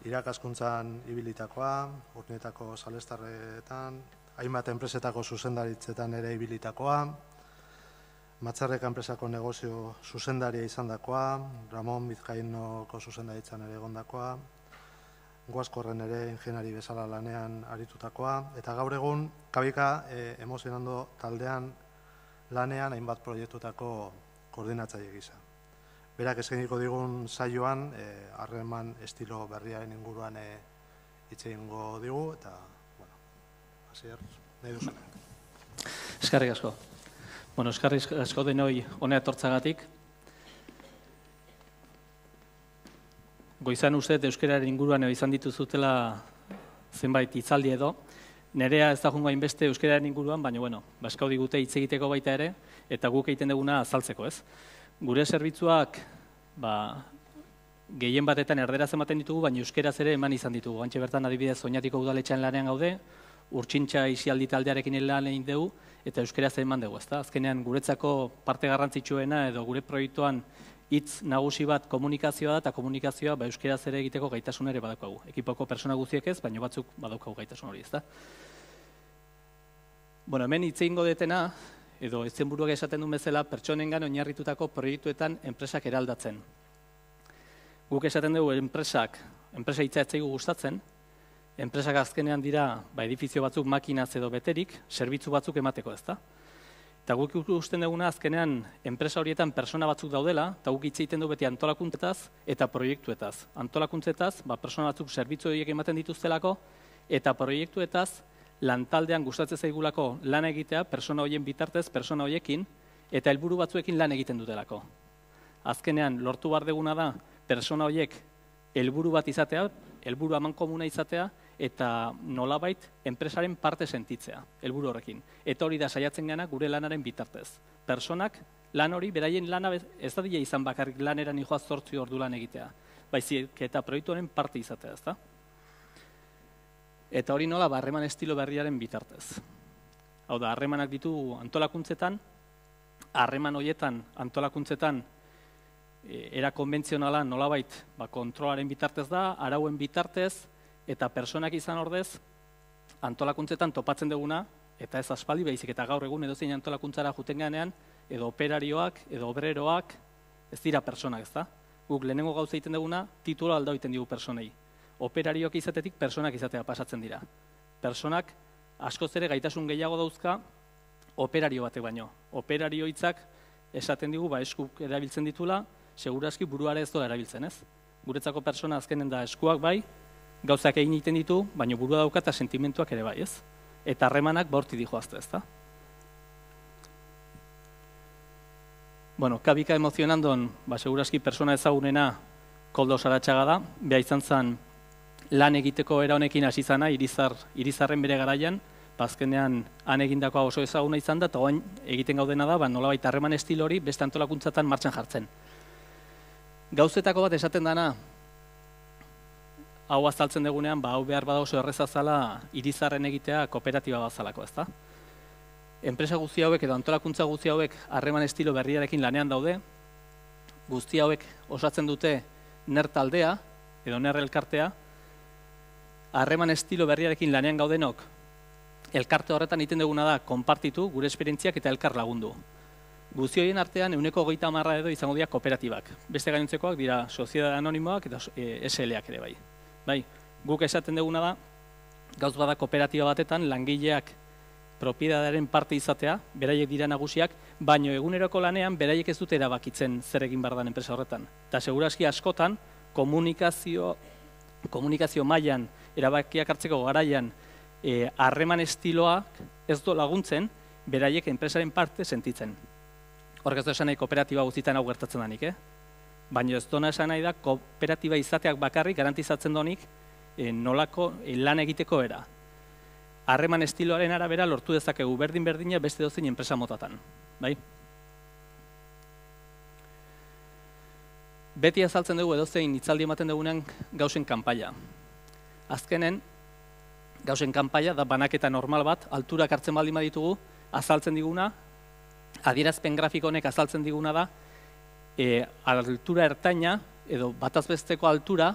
irakaskuntzan ibilitakoa, Urnietako salestarretan, hainbat enpresetako zuzendaritzetan ere ibilitakoa, Matzarreka enpresako negozio zuzendaria izandakoa, Ramon Bizkainoko zuzendaritzan ere egondakoa, Guaskorren ere ingeniari bezala lanean aritutakoa, eta gaur egun Kabika emozionando taldean lanean hainbat proiektutako koordinatzaile gisa. Berak eskainiko digun saioan, harreman estilo berriaren inguruan hitz egingo digu, eta, bueno, hasier, nahi duzunak. Eskerrik asko. Bueno, eskerrik asko denoi honea etortzagatik. Goizan uste euskararen inguruan izan dituzutela zenbait hitzaldi edo. Nerea ez da jungo hainbeste euskararen inguruan, baina, bueno, baskau digute hitz egiteko baita ere, eta guk egiten duguna azaltzeko, ez? Gure zerbitzuak, gehien batetan erderaz ematen ditugu, baina euskeraz ere eman izan ditugu. Antxe bertan adibidez Oñatiko udaletxean lanean gaude, Urtsintxa isialdi taldearekin lan egin dugu, eta euskeraz eman dugu, ezta? Azkenean guretzako parte garrantzitsuena edo gure proiektuan hitz nagusi bat komunikazioa da, eta komunikazioa euskeraz ere egiteko gaitasun ere badaukagu. Ekipoko persona guztiek ez, baina batzuk badaukagu gaitasun hori, ezta? Bueno, hemen hitz egingo detena, edo izenburuak esaten duen bezala, pertsonengan oinarritutako proiektuetan enpresak eraldatzen. Guk esaten dugu enpresa hitza ez zaigu gustatzen, enpresak azkenean dira edifizio batzuk makinaz edo beterik, zerbitzu batzuk emateko, ezta? Eta guk ikusten duguna azkenean enpresa horietan persona batzuk daudela, eta guk hitz egiten du beti antolakuntzetaz eta proiektuetaz. Antolakuntzetaz, persona batzuk zerbitzu horiek ematen dituztelako, eta proiektuetaz lantaldean gustatzen zaigulako lan egitea, persona horien bitartez, persona horiekin, eta helburu batzuekin lan egiten dutelako. Azkenean, lortu behar duguna da, persona horiek helburu bat izatea, helburu amankomuna izatea, eta nolabait enpresaren parte sentitzea, helburu horrekin. Eta hori da saiatzen gana gure lanaren bitartez. Personak, lan hori, beraien lana ez da dira izan bakarrik laneran joaz 8 ordu lan egitea, baizik eta proiektuaren parte izatea, ezta? Eta hori nola, harreman estilo berriaren bitartez. Hau da, harremanak ditu antolakuntzetan, harreman horietan antolakuntzetan era konbentzionala nolabait kontrolaren bitartez da, arauen bitartez, eta personak izan ordez, antolakuntzetan topatzen duguna, eta ez aspaldi baizik eta gaur egun edozein antolakuntzara juten ganean, edo operarioak, edo obreroak, ez dira personak, ez da? Guk lehenengo gauza egiten duguna, titula alda egiten digu personei. Operarioak izatetik personak izatea pasatzen dira. Personak askoz ere gaitasun gehiago dauzka operario batek baino. Operario hitzak esaten digu eskuk erabiltzen ditula, segurazki buruare ez doa erabiltzen, ez? Guretzako persona azkenen da eskuak bai, gauzak egin egiten ditu, baina burua dauka eta sentimentuak ere bai, ez? Eta harremanak borti dijoazte, ez da? Bueno, Kabika emozionandon, segurazki persona ezagunena Koldo Saratxaga da, beha izan zen lan egiteko era honekin hasi zana, Irizarren bere garaian, azkenean han egindakoa oso ezaguna izan da, eta oain egiten gaudena da, nolabait harreman estilo hori beste antolakuntzatan martxan jartzen. Gauzetako bat esaten dana, hau azaltzen dugunean, hau behar bada oso errezazala Irizarren egitea kooperatiba bazalako, ezta? Enpresa guzti hauek edo antolakuntza guzti hauek harreman estilo berriarekin lanean daude, guzti hauek osatzen dute NER taldea, edo NER elkartea, harreman estilo berriarekin lanean gaudenok, elkarte horretan egiten duguna da, konpartitu gure esperientziak eta elkar lagundu. Guzti horien artean, 130 edo izango dira kooperatibak. Beste gainontzekoak dira soziedade anonimoak eta SL-ak ere bai. Bai, guk esaten duguna da, gauz bada kooperatiba batetan, langileak propiedadearen parte izatea, beraiek dira nagusiak, baino eguneroko lanean beraiek ez dute erabakitzen zer egin behar den enpresa horretan. Eta segurazki askotan, komunikazio mailan erabakiak hartzeko garaian harreman estiloak ez do laguntzen, beraiek enpresaren parte sentitzen. Horrek ez du esan nahi kooperatiba guztietan hau gertatzen danik, baina ez dona esan nahi da kooperatiba izateak bakarrik garantizatzen donik nolako lan egiteko era. Harreman estiloaren arabera lortu dezakegu berdin-berdina beste dozein enpresa motatan. Bai? Beti azaltzen dugu edozein hitzaldi ematen dugunean gauzen kanpaia. Azkenen, gauzen kanpaia da banaketa normal bat, alturak hartzen baldin baditugu, azaltzen diguna, adierazpen grafiko honek azaltzen diguna da, altura ertaina, edo batazbesteko altura,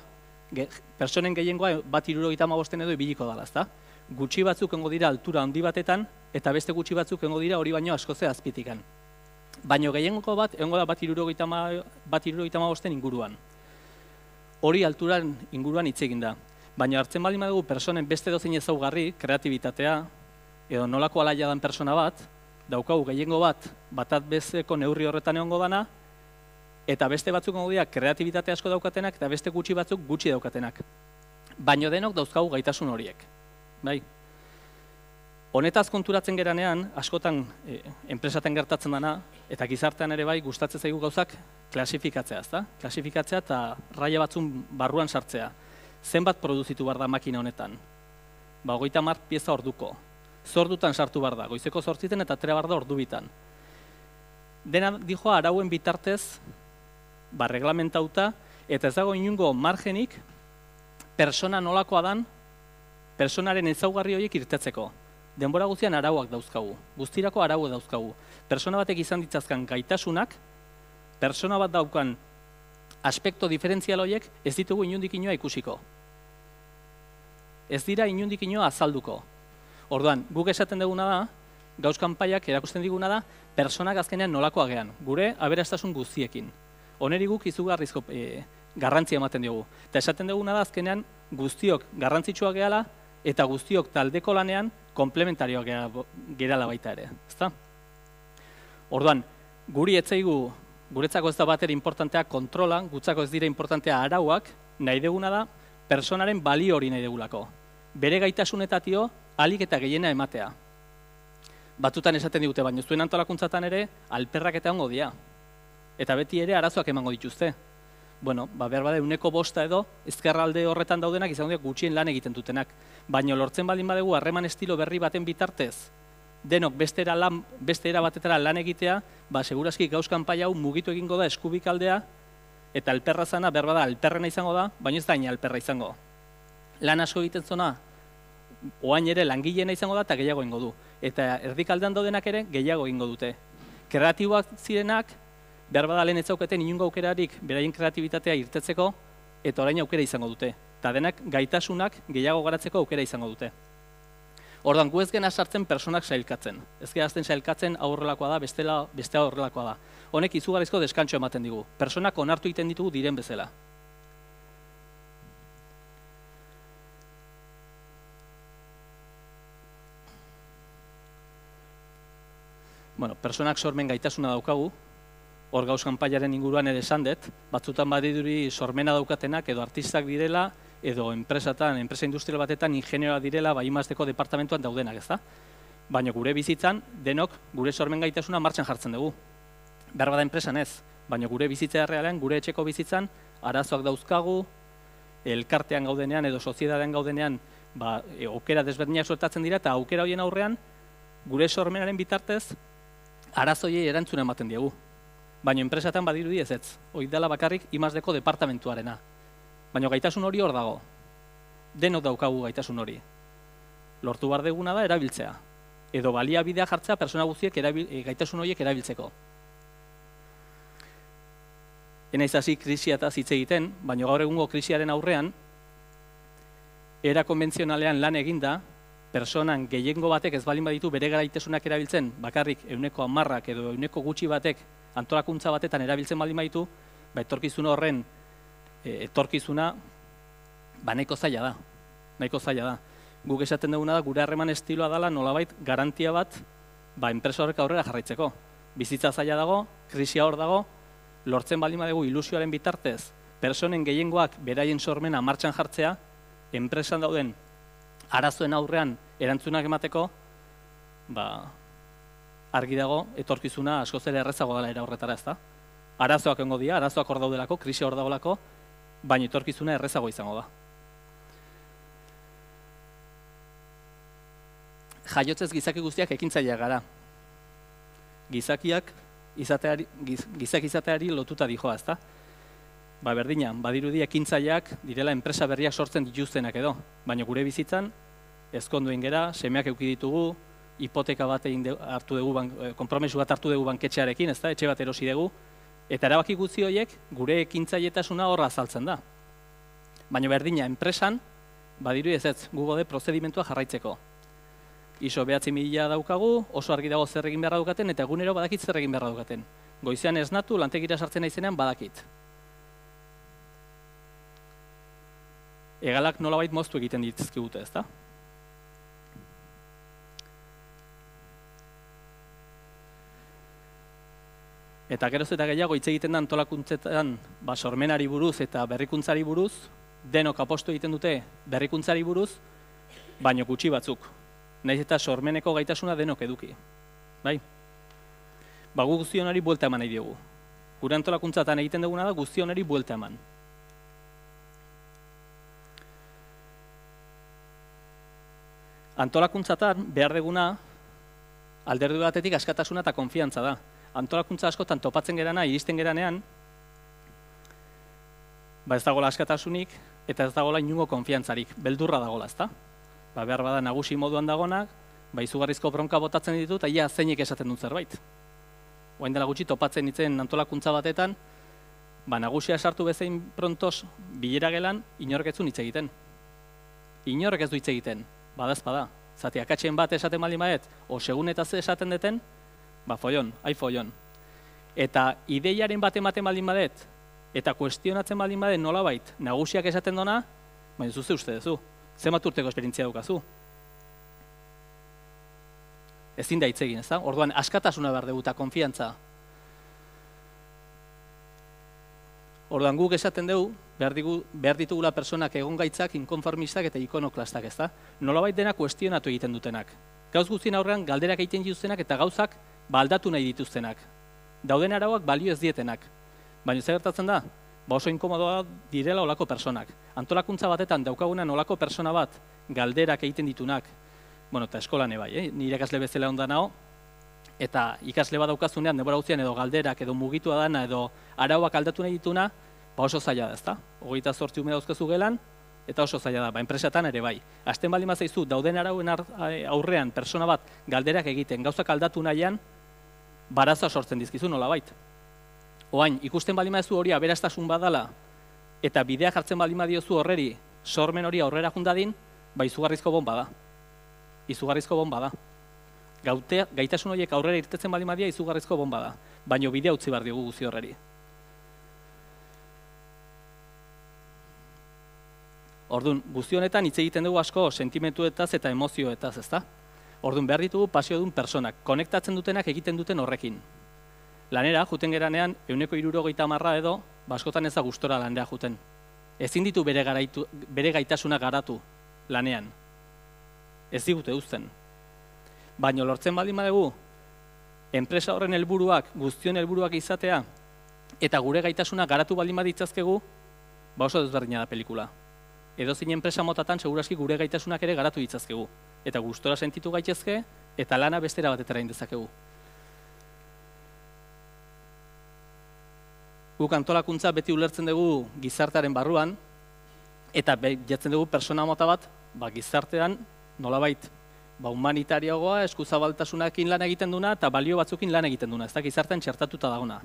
Pertsonen gehiengoa 1,75 edo ibiliko dela, ezta? Gutxi batzuk egongo dira altura handi batetan, eta beste gutxi batzuk egongo dira hori baino askoz azpitikan. Baina gehiengo bat egongo da 1,75 inguruan. Hori alturan inguruan hitz egin da. Baina hartzen baldin badugu pertsonen beste dozein ezaugarri, kreatibitatea, edo nolako alaia dan pertsona bat, daukagu gehiengo batat besteko neurri horretan egongo dana, eta beste batzuk egongo dira kreatibitate asko daukatenak, eta beste gutxi batzuk gutxi daukatenak. Baina denok dauzkagu gaitasun horiek. Bai? Honetaz konturatzen geranean, askotan enpresaten gertatzen dana, eta gizartean ere bai gustatzen zaigu gauzak klasifikatzea, ezta? Klasifikatzea eta raia batzun barruan sartzea. Zenbat produzitu behar da makina honetan? 30 pieza orduko. Zordutan sartu behar da, goizeko 8 eta atera behar da ordu bitan. Dena dijoa arauen bitartez, reglamentauta, eta ez dago inungo margenik, persona nolakoa dan, personaren ezaugarri horiek irtetzeko. Denbora guztian arauak dauzkagu, guztirako arauak dauzkagu. Persona batek izan ditzazkan gaitasunak, persona bat daukan aspekto diferentzial horiek ez ditugu inundik inoa ikusiko. Ez dira inundik inoa azalduko. Orduan, guk esaten duguna da, gauz kanpaiak erakusten diguna da, personak azkenean nolakoa gean, gure aberastasun guztiekin. Honeri guk izugarrizko garrantzia ematen diogu. Eta esaten duguna da, azkenean guztiok garrantzitsua gehala, eta guztiok taldeko lanean komplementarioak gerala baita ere. Ezta? Orduan, guri etzaigu, guretzako ez da batera importantea kontrola, gutzako ez dira importantea arauak, nahi deguna da, personaren balio hori nahi degulako. Bere gaitasunetazio, alik eta gehiena ematea. Batutan esaten digute, baina zuen antolakuntzatan ere, alperrak eta ongo dia. Eta beti ere arazoak emango dituzte. Bueno, behar bada 1/5 edo, ezkerralde horretan daudenak izango dira gutxien lan egiten dutenak. Baina lortzen baldin badegu harreman estilo berri baten bitartez, denok beste era batetara lan egitea, segurazki gauz kanpai hau mugitu egingo da eskubikaldea, eta alperra zana behar bada alperrena izango da, baina ez da ina alperra izango. Lan asko egiten zona, oain ere langileena izango da eta gehiago egingo du. Eta erdikaldean daudenak ere gehiago egingo dute. Kreatiboak zirenak, behar bada lehen ez zauketen inungo aukerarik beraien kreatibitatea irtetzeko, eta orain aukera izango dute. Eta denak gaitasunak gehiago garatzeko aukera izango dute. Orduan, gu ez gena sartzen personak sailkatzen. Ez gerazten sailkatzen aurrelakoa da, bestea aurrelakoa da. Honek izugarrizko deskantxo ematen digu. Personak onartu egiten ditugu diren bezala. Bueno, personak sormen gaitasuna daukagu, hor gauz kanpaiaren inguruan ere esan dut, batzutan badiduri sormena daukatenak edo artistak direla, edo enpresa industrial batetan ingenieroa direla, imazteko departamentuan daudenak, ez da? Baina gure bizitzan, denok gure sormen gaitasuna martxan jartzen dugu. Behar bada enpresan ez, baina gure bizitza errealean, gure etxeko bizitzan, arazoak dauzkagu, elkartean gaudenean edo soziedadean gaudenean, aukera desberdinak suertatzen dira, eta aukera horien aurrean, gure sormenaren bitartez, arazoiei erantzuna ematen diegu. Baina enpresatan badirudi ez ez, hori dela bakarrik imazteko departamentuarena. Baina gaitasun hori hor dago. Denok daukagu gaitasun hori. Lortu behar deguna da erabiltzea. Edo baliabidea jartzea persona guztiek gaitasun horiek erabiltzeko. Enaiz hasi krisiataz hitz egiten, baina gaur egungo krisiaren aurrean, era konbentzionalean lan eginda, personan gehiengo batek ez baldin baditu bere gaitasunak erabiltzen, bakarrik 10% edo 100 gutxi batek antolakuntza batetan erabiltzen baldin baditu, etorkizun horren etorkizuna nahiko zaila da. Nahiko zaila da. Guk esaten duguna da, gure harreman estiloa dela nolabait garantia bat enpresa horrek aurrera jarraitzeko. Bizitza zaila dago, krisia hor dago, lortzen baldin badegu ilusioaren bitartez, personen gehiengoak beraien sormena martxan jartzea, enpresan dauden arazoen aurrean erantzunak emateko, argi dago, etorkizuna askoz ere errezago dela era horretara, ez da? Arazoak egongo dira, arazoak hor daudelako, krisia hor dagoelako, baina etorkizuna errezago izango da. Jaiotzez gizaki guztiak ekintzaileak gara. Gizakiak izateari lotuta dijoa, ez da? Berdina, badirudi ekintzaileak direla enpresa berriak sortzen dituztenak edo, baina gure bizitzan, ezkonduen gera, semeak eduki ditugu, hipoteka bat hartu dugu, konpromesu bat hartu dugu banketxearekin, ez da, etxe bat erosi dugu, eta erabaki guzti horiek gure ekintzailetasuna horra azaltzen da. Baina berdina enpresan, badiru ez gu gaude prozedimentua jarraitzeko. ISO 9000 daukagu, oso argi dago zer egin beharra daukaten, eta egunero badakit zer egin beharra daukaten. Goizean esnatu, lantegira sartzen naizenean badakit. Hegalak nolabait moztu egiten dizkigute, ezta? Eta geroz eta gehiago hitz egiten da antolakuntzetan sormenari buruz eta berrikuntzari buruz, denok apostu egiten dute berrikuntzari buruz, baino gutxi batzuk. Naiz eta sormeneko gaitasuna denok eduki. Bai? Gu guztionari buelta eman nahi diogu. Gure antolakuntzatan egiten duguna da guztionari buelta eman. Antolakuntzatan behar duguna alderdi batetik askatasuna eta konfiantza da. Antolakuntza askotan topatzen gerana, iristen geranean, ez dagoela askatasunik eta ez dagoela inungo konfiantzarik, beldurra dagoela, ezta? Behar bada nagusi moduan dagonak, izugarrizko bronka botatzen ditut, eta zeinek esaten dut zerbait. Oain dela gutxi topatzen ditzen antolakuntza batetan, nagusia sartu bezain prontos bilera gelan, inork ez du hitz egiten. Inork ez du hitz egiten, badazpada. Zati, akatzen bat esaten baldin badet, o segunetaz esaten deten, follon, follon. Eta ideiaren bat ematen baldin badet, eta kuestionatzen baldin badet nolabait, nagusiak esaten dona, baina zuze uste duzu, zenbat urteko esperientzia daukazu. Ezin da hitz egin, ez da? Orduan, askatasuna behar dugu eta konfiantza. Orduan, guk esaten dugu, behar ditugula personak egongaitzak, inkonformistak eta ikonoklastak, ez da? Nolabait dena kuestionatu egiten dutenak. Gauz guztien aurrean galderak egiten dituztenak eta gauzak aldatu nahi dituztenak. Dauden arauak balio ez dietenak. Baina zer gertatzen da? Oso inkomodoa direla olako personak. Antolakuntza batetan daukagunan olako persona bat galderak egiten ditunak, eta eskolan bai, nire ikasle bezala ondan hau, eta ikasle bat daukazunean, denbora guztian edo galderak, edo mugitua dana, edo arauak aldatu nahi dituna, oso zaila da, ezta? 28 ume dauzkazu gelan, eta oso zaila da, enpresatan ere bai. Hasten baldin bazaizu, dauden arauen aurrean persona bat galderak egiten, gauzak aldatu nahian, baraza sortzen dizkizu nolabait. Oain, ikusten baldin badezu hori aberastasun badala, eta bidea jartzen baldin badiozu horreri, sormen hori aurrera jundadin, izugarrizko bomba da. Izugarrizko bomba da. Gaitasun horiek aurrera irtetzen baldin badia, izugarrizko bomba da. Baina bidea utzi behar diogu guzi horreri. Orduan, guzti honetan hitz egiten dugu asko sentimentuetaz eta emozioetaz, ezta? Orduan, behar ditugu pasiodun personak, konektatzen dutenak egiten duten horrekin. Lanera, juten geranean, 160 edo, askotan ez da gustora lanera juten. Ezin ditu bere gaitasuna garatu lanean. Ez digute uzten. Baina lortzen baldin badugu, enpresa horren helburuak, guztion helburuak izatea, eta gure gaitasuna garatu baldin baditzazkegu, oso desberdina da pelikula. Edozein enpresa motatan seguraski gure gaitasunak ere garatu ditzazkegu. Eta gustora sentitu gaitezke, eta lana bestera batetara indezakegu. Guk antolakuntza beti ulertzen dugu gizartearen barruan, eta jatzen dugu persona mota bat, gizartean nolabait, humanitariagoa, eskuzabaltasunakin lan egiten duna, eta balio batzukin lan egiten duna, ez da gizartean txertatuta dagona.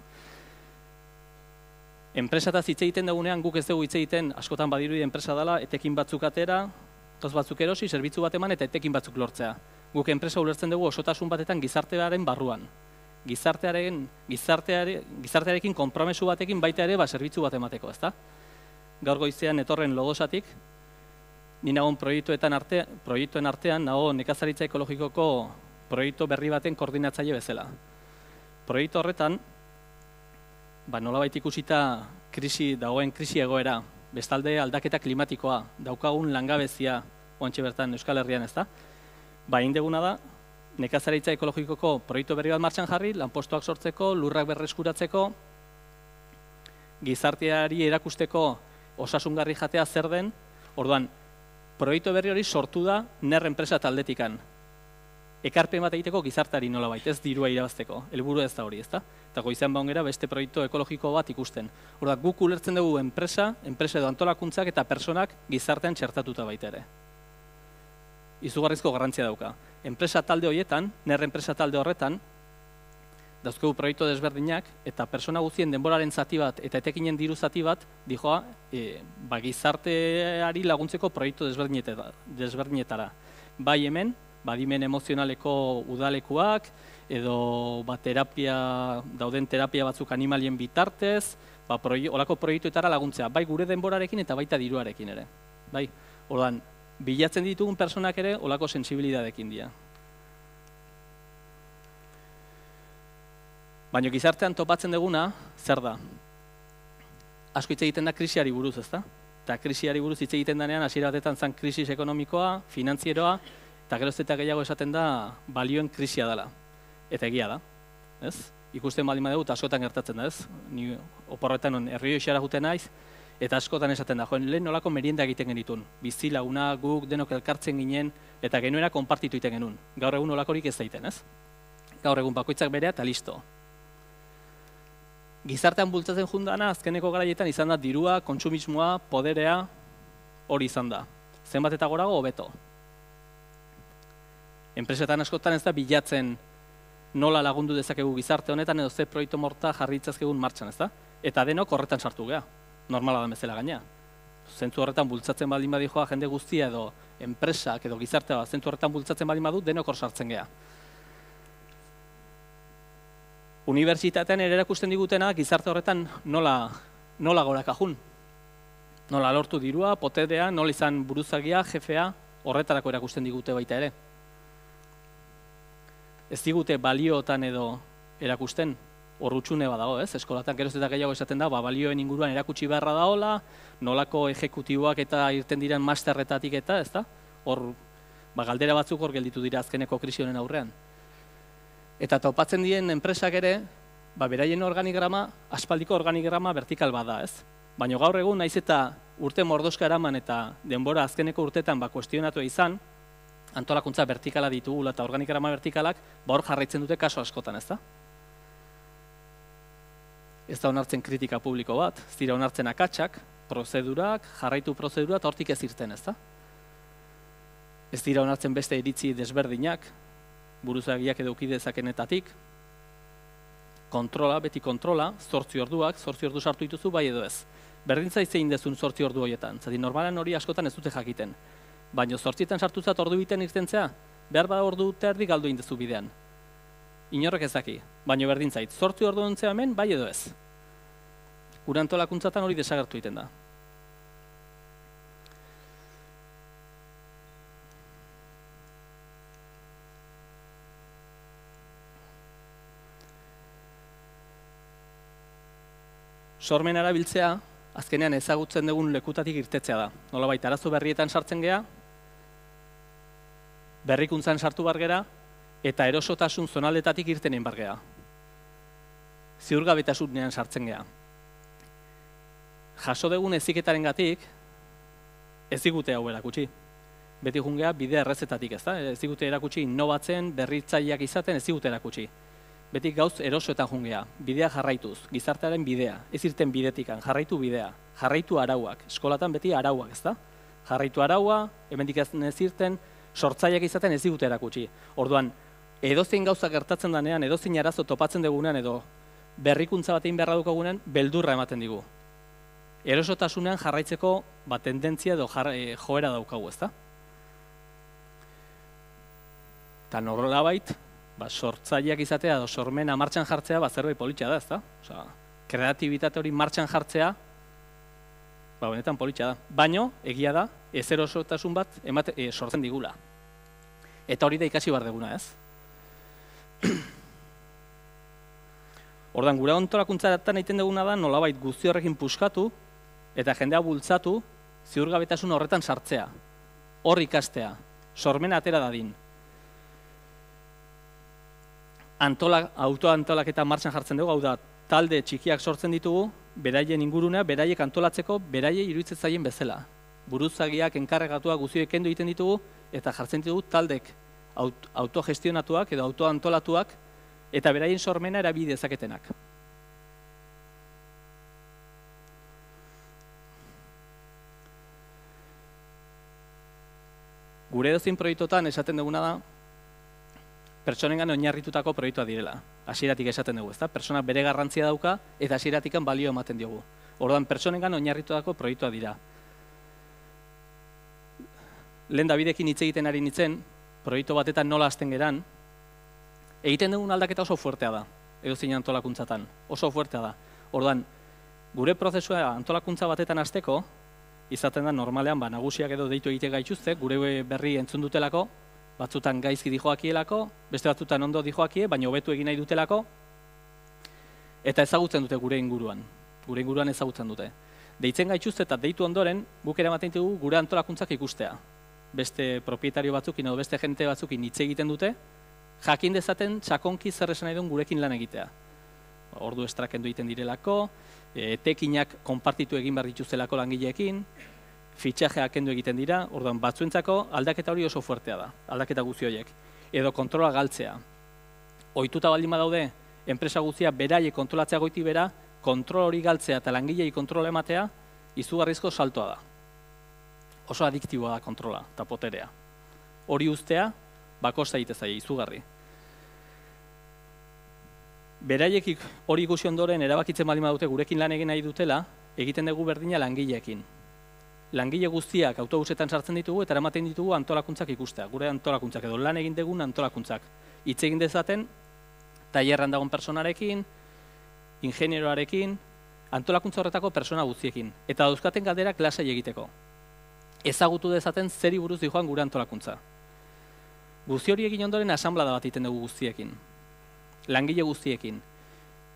Enpresataz hitz egiten dagunean, guk ez dugu hitz egiten, askotan badirudi enpresa dela, etekin batzuk atera, toz batzuk erosi, zerbitzu bat eman eta etekin batzuk lortzea. Guk enpresa ulertzen dugu osotasun batetan gizartearen barruan. Gizartearekin konpromesu batekin baita ere zerbitzu bat emateko, ezta? Gaur goizean etorren Lodosatik, ni nagoen proiektuen artean, nago nekazaritza ekologikoko proiektu berri baten koordinatzaile bezala. Proiektu horretan, nolabait ikusita dagoen krisi egoera, bestalde aldaketa klimatikoa, daukagun langabezia, oantxe bertan Euskal Herrian, ezta? Indeguna da, nekazaritza ekologikoko proiektu berri bat martxan jarri, lanpostuak sortzeko, lurrak berreskuratzeko, gizarteari erakusteko osasungarri jatea zer den, orduan, proiektu berri hori sortu da NER enpresa taldetikan. Ekarpen bat egiteko gizarteari nolabait, ez dirua irabazteko, helburu ez da hori, ezta? Eta goizean baungera beste proiektu ekologiko bat ikusten. Orduan, guk ulertzen dugu enpresa edo antolakuntzak eta personak gizartean txertatuta baita ere. Izugarrizko garrantzia dauka. Enpresa talde horietan, NER enpresa talde horretan, dauzkegu proiektu desberdinak, eta persona guztien denboraren zati bat eta etekinen diru zati bat, dijoa, gizarteari laguntzeko proiektu desberdinetara. Bai hemen, badimen emozionaleko udalekuak, edo dauden terapia batzuk animalien bitartez, olako proiektuetara laguntzea, bai gure denborarekin eta baita diruarekin ere. Bai, ordan, bilatzen ditugun personak ere olako sensibilidadekin dira. Baina gizartean topatzen duguna, zer da? Asko hitz egiten da krisiari buruz, ezta? Eta krisiari buruz hitz egiten denean, hasiera batetan zen krisis ekonomikoa, finantzieroa, eta geroz eta gehiago esaten da balioen krisia dela. Eta egia da, ez? Ikusten baldin badugu, eta askotan gertatzen da, ez? Ni oporretan herri hoxara juten naiz, eta askotan esaten da, joen, lehen nolako merienda egiten genitun. Bizi laguna, guk denok elkartzen ginen, eta genuena konpartitu egiten genuen. Gaur egun nolakorik ez daiten, ez? Gaur egun bakoitzak berea eta listo. Gizartean bultzatzen jundana, azkeneko garaietan izan da dirua, kontsumismoa, poderea, hori izan da. Zenbat eta gorago, hobeto. Enpresetan askotan ez da bilatzen nola lagundu dezakegu gizarte honetan edo ze proiektu morta jarri ditzazkegun martxan, ez da? Eta denok horretan sartu gea, normala da bezala gaina. Zentzu horretan bultzatzen baldin badijoa jende guztia edo enpresak edo gizartea zentzu horretan bultzatzen baldin badu denok hor sartzen gea. Unibertsitatean ere erakusten digutena gizarte horretan nola gorakajun. Nola lortu dirua, poterea, nola izan buruzagia, jefea, horretarako erakusten digute baita ere. Ez digute balioetan edo erakusten, horrutxune badago, ez? Eskolatan geroz eta gehiago esaten da, balioen inguruan erakutsi beharra daola, nolako ejekutiboak eta irten diren masterretatik eta, ez da? Hor, galdera batzuk hor gelditu dira azkeneko krisi honen aurrean. Eta topatzen diren enpresak ere, beraien organigrama, aspaldiko organigrama vertikal bada, ez? Baina gaur egun, naiz eta urte mordoska eraman eta denbora azkeneko urtetan kuestionatu izan, antolakuntza vertikala ditugula eta organigrama vertikalak, hor jarraitzen dute kaso askotan, ez da? Ez da onartzen kritika publiko bat, ez dira onartzen akatsak, prozedurak, jarraitu prozedura eta hortik ez irten, ez da? Ez dira onartzen beste iritzi desberdinak, buruzagiak edo ukidezakenetatik, kontrola, beti kontrola, 8 orduak, 8 ordu sartu dituzu bai edo ez. Berdintza zein dezun 8 ordu horietan, zati normalan hori askotan ez dute jakiten. Baina 8etan sartuzat ordu biten irtentzea, behar bada ordu terdi galdu indezu bidean. Inorrek ezaki, baina berdintzait, 8 ordu ontzea hemen bai edo ez. Gure antolakuntzatan hori desagertu egiten da. Sormen erabiltzea, azkenean ezagutzen dugun lekutatik irtetzea da. Nolabait, arazo berrietan sartzen gea, berrikuntzan sartu bar gera, eta erosotasun zonaldetatik irtenen bar gea. Ziurgabetasunean sartzen gea. Jaso dugun heziketarengatik ez digute hau erakutsi. Beti jungea bide errezetatik, ez da? Ez digute erakutsi innobatzen, berritzaileak izaten, ez digute erakutsi. Beti gauz erosoetan jungea, bidea jarraituz, gizartearen bidea, ez irten bidetikan, jarraitu bidea, jarraitu arauak, eskolatan beti arauak, ez da? Jarraitu araua, hemendik ez irten, sortzaileak izaten ez digute erakutsi. Orduan, edozein gauza gertatzen danean, edozein arazo topatzen dugunean edo berrikuntza batein beharra dukagunean, beldurra ematen digu. Erosotasunean jarraitzeko tendentzia edo joera daukagu, ez da? Eta nolabait, sortzaileak izatea edo sormena martxan jartzea zerbait politxa da, ez da? Osea, kreatibitate hori martxan jartzea, benetan politxa da. Baino, egia da, ez erosotasun bat sortzen digula. Eta hori da ikasi behar deguna, ez? Ordan gure antolakuntzatan egiten duguna da nolabait guzti horrekin puskatu eta jendea bultzatu ziurgabetasun horretan sartzea. Hor ikastea, sormena atera dadin. Autoantolaketa martxan jartzen dugu, hau da, talde txikiak sortzen ditugu, beraien ingurunea, beraiek antolatzeko, beraiei iruditzen zaien bezala. Buruzagiak, enkarregatuak, guztiak kendu egiten ditugu, eta jartzen ditugu taldek autogestionatuak edo autoantolatuak, eta beraien sormena erabili dezaketenak. Gure edozein proiektuetan esaten duguna da, pertsonengan oinarritutako proiektua direla. hasieratik esaten dugu, ezta? Pertsonak bere garrantzia dauka eta hasieratik balio ematen diogu. Orduan pertsonengan oinarritutako proiektua dira. Lehen Davidekin hitz egiten ari nintzen, proiektu batetan nola hasten geran, egiten dugun aldaketa oso fuertea da, edozein antolakuntzatan, oso fuertea da. Orduan, gure prozesua antolakuntza batetan hasteko, izaten da normalean nagusiak edo deitu egite gaituzte, gure berri entzun dutelako, batzutan gaizki dijoakielako, beste batzutan ondo dijoakie, baina hobetu egin nahi dutelako, eta ezagutzen dute gure inguruan ezagutzen dute. Deitzen gaituzte eta deitu ondoren, guk eramaten dugu gure antolakuntzak ikustea. Beste propietario batzukin edo beste jente batzukin hitz egiten dute, jakin dezaten txakonki zer esan nahi duen gurekin lan egitea. Ordu estrakendu egiten direlako, etekinak konpartitu egin behar dituztelako langileekin, fitxajeak kendu egiten dira, orduan batzuentzako aldaketa hori oso fuertea da, aldaketa guzti horiek. Edo kontrola galtzea. Ohituta baldin badaude, enpresa guztia beraiek kontrolatzea goiti bera, kontrol hori galtzea eta langilei kontrola ematea, izugarrizko saltoa da. Oso adiktiboa da kontrola eta poterea. Hori ustea, bakosta egite zaie, izugarri. Beraiek hori ikusi ondoren erabakitzen baldin badute gurekin lan egin nahi dutela, egiten dugu berdina langileekin. Langile guztiak autobusetan sartzen ditugu eta eramaten ditugu antolakuntzak ikustea. Gure antolakuntzak edo lan egin dugun antolakuntzak. Hitz egin dezaten, tailerran dagoen personarekin, ingenieroarekin, antolakuntza horretako persona guztiekin. Eta dauzkaten galderak lasai egiteko. Ezagutu dezaten zeri buruz dijoan gure antolakuntza. Guzti hori egin ondoren asanblada bat egiten dugu guztiekin. Langile guztiekin.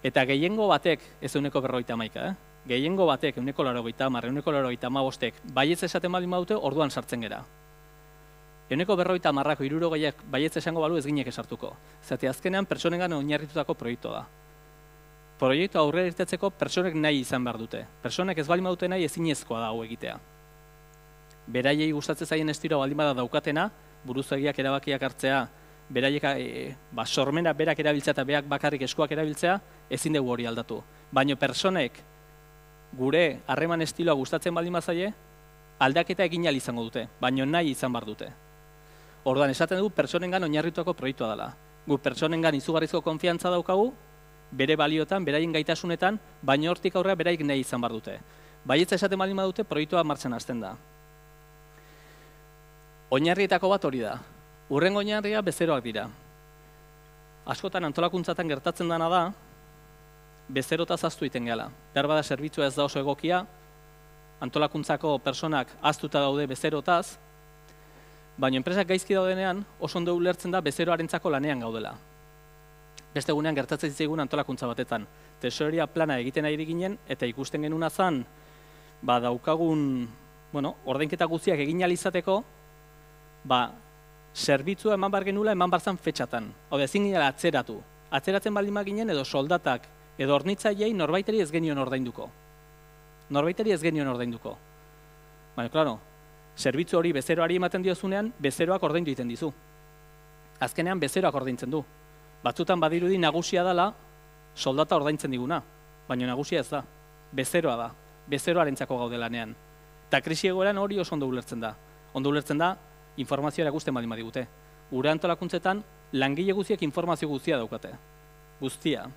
Eta gehiengo batek, ez 151, gehiengo batek, 180, 185, baietz esaten baldin badute, orduan sartzen gera. 150, 60 baietz esango balu ez ginek esartuko. Zati azkenean pertsonengan oinarritutako proiektu da. Proiektu aurrera irtetzeko pertsonek nahi izan behar dute. Pertsonek ez baldin badute nahi ezinezkoa da hau egitea. Beraiei gustatzen zaien estilo baldin bada daukatena, buruzagiak erabakiak hartzea, beraiek sormena berak erabiltzea eta berak bakarrik eskuak erabiltzea, ezin dugu hori aldatu. Baina pertsonek gure harreman estiloa gustatzen baldin bazaie, aldaketa egin ahal izango dute, baina nahi izan behar dute. Orduan esaten dugu pertsonengan oinarrituako proiektua dela. Gu pertsonengan izugarrizko konfiantza daukagu, bere baliotan, beraien gaitasunetan, baina hortik aurrera beraik nahi izan behar dute. Baietza esaten baldin badute, proiektua martxan hasten da. Oinarrietako bat hori da. Hurrengo oinarria bezeroak dira. Askotan antolakuntzatan gertatzen dena da, bezerotaz ahaztu egiten gehala. Behar bada zerbitzua ez da oso egokia, antolakuntzako personak ahaztuta daude bezerotaz, baina enpresak gaizki daudenean oso ondo ulertzen da bezeroarentzako lanean gaudela. Beste egunean gertatzen zigun antolakuntza batetan. Tesoreria plana egiten ari ginen eta ikusten genuna zan, daukagun, ordainketa guztiak egin ahal izateko, zerbitzua eman behar genula eman behar zan fetxatan. Hau da, ezin ginen atzeratu. Atzeratzen baldin baginen edo soldatak edo hornitzaileei norbaiteri ez genion ordainduko. Baina, klaro, zerbitzu hori bezeroari ematen diozunean, bezeroak ordaindu egiten dizu. Azkenean bezeroak ordaintzen du. Batzutan badirudi nagusia dela, soldata ordaintzen diguna. Baina nagusia ez da. Bezeroa da. Bezeroarentzako gaude lanean. Eta krisi egoeran hori oso ondo ulertzen da. Ondo ulertzen da, informazioa erakusten baldin badigute. Gure antolakuntzetan, langile guztiak informazio guztia daukate. Guztia.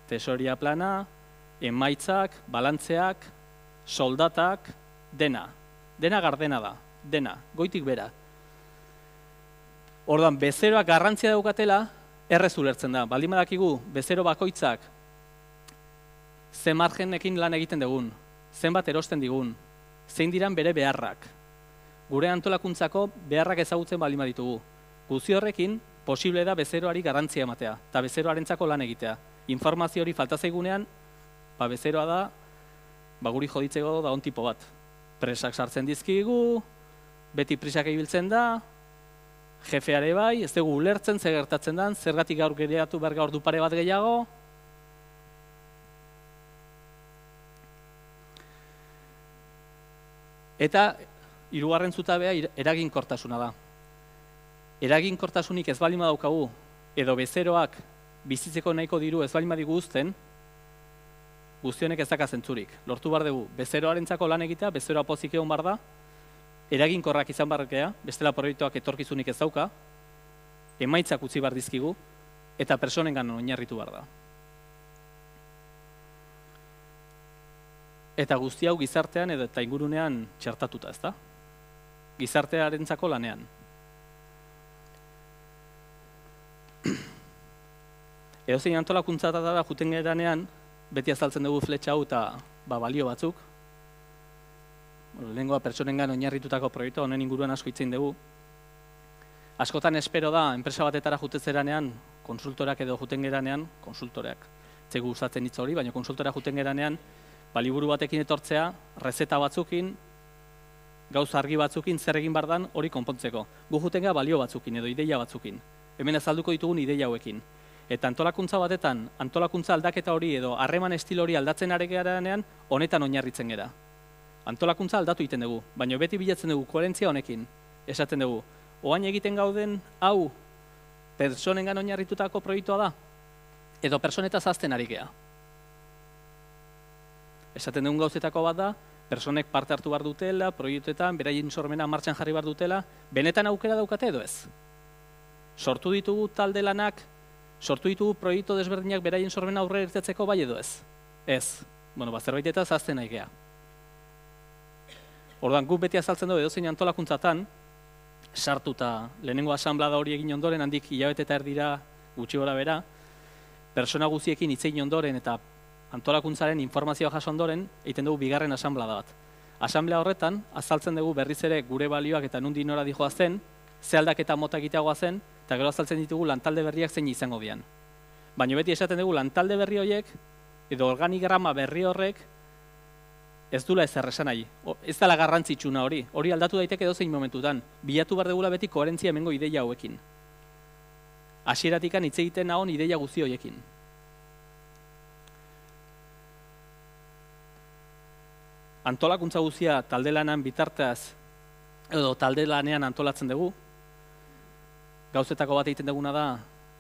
Tesoreria plana, emaitzak, balantzeak, soldatak, dena. Dena gardena da. Dena. Goitik bera. Orduan, bezeroak garrantzia daukatela, errez ulertzen da. Baldin badakigu, bezero bakoitzak, ze margenekin lan egiten dugun, zenbat erosten digun, zein diran bere beharrak. Gure antolakuntzako beharrak ezagutzen baldin baditugu. Guzti horrekin, posible da bezeroari garrantzia ematea, eta bezeroarentzako lan egitea. Informazio hori falta zaigunean, bezeroa da, guri joditzeko da on tipo bat. Presak sartzen dizkigu, beti prisak ibiltzen da, jefeare bai, ez dugu ulertzen, zer gertatzen den, zergatik gaur gereatu behar gaur du pare bat gehiago. Eta, hirugarren zutabea eraginkortasuna da. Eraginkortasunik ez baldin badaukagu, edo bezeroak bizitzeko nahiko diru ez baldin badigu uzten, guztionek ez daka zentzurik. Lortu behar dugu, bezeroarentzako lan egitea, bezeroa pozik egon behar da, eraginkorrak izan barrakea, bestela proiektuak etorkizunik ez dauka, emaitzak utzi behar dizkigu, eta personengan oinarritu behar da. Eta guzti hau gizartean eta ingurunean txertatuta, ezta? Gizartearentzako lanean. Edozein antolakuntza da juten geranean, beti azaltzen dugu fletxa hau eta balio batzuk. Lehengoa pertsonengan oinarritutako proiektu honen inguruan asko hitzein dugu. Askotan espero da, enpresa batetara jutezeranean, konsultorak edo juten geranean, konsultoreak, zegu gustatzen hitz hori, baina konsultora juten geranean, liburu batekin etortzea, rezeta batzukin, gauza argi batzukin, zer egin bardan hori konpontzeko. Gu juten gara balio batzukin edo ideia batzukin. Hemen azalduko ditugun ideia hauekin. Eta antolakuntza batetan, antolakuntza aldaketa hori edo harreman estilo hori aldatzen ari geranean, honetan oinarritzen gera. Antolakuntza aldatu egiten dugu, baina beti bilatzen dugu koherentzia honekin. Esaten dugu, oain egiten gauden hau personengan oinarritutako proiektua da, edo personetaz azten ari gea. Esaten dugun gauzetako bat da, personek parte hartu behar dutela, proiektuetan, beraien sormena martxan jarri behar dutela, benetan aukera daukate edo ez. Sortu ditugu talde lanak, sortu ditugu proiektu desberdinak beraien sormena aurrera irtetzeko bai edo ez. Ez. Zerbaitetaz azten nahi gea. Orduan, guk beti azaltzen dugu edozein antolakuntzatan, sartuta lehenengo asanblada hori egin ondoren, handik hilabete eta erdira gutxi gora bera, persona guztiekin hitz egin ondoren eta antolakuntzaren informazioa jaso ondoren, egiten dugu bigarren asanblada bat. Asanblea horretan, azaltzen dugu berriz ere gure balioak eta nundi nora dijoa zen, ze aldaketa mota egiteagoa zen, eta gero azaltzen ditugu lantalde berriak zein izango dian. Baina beti esaten dugu lantalde berri horiek, edo organigrama berri horrek, ez dula ezer esan nahi. Ez dela garrantzitsuna hori aldatu daiteke edozein momentutan. Bilatu behar dugula beti koherentzia hemengo ideia hauekin. Hasieratikan hitz egiten nahon ideia guzti horiekin. Antolakuntza guztia talde lanean bitarteaz, edo talde lanean antolatzen dugu. Gauzetako bat egiten duguna da,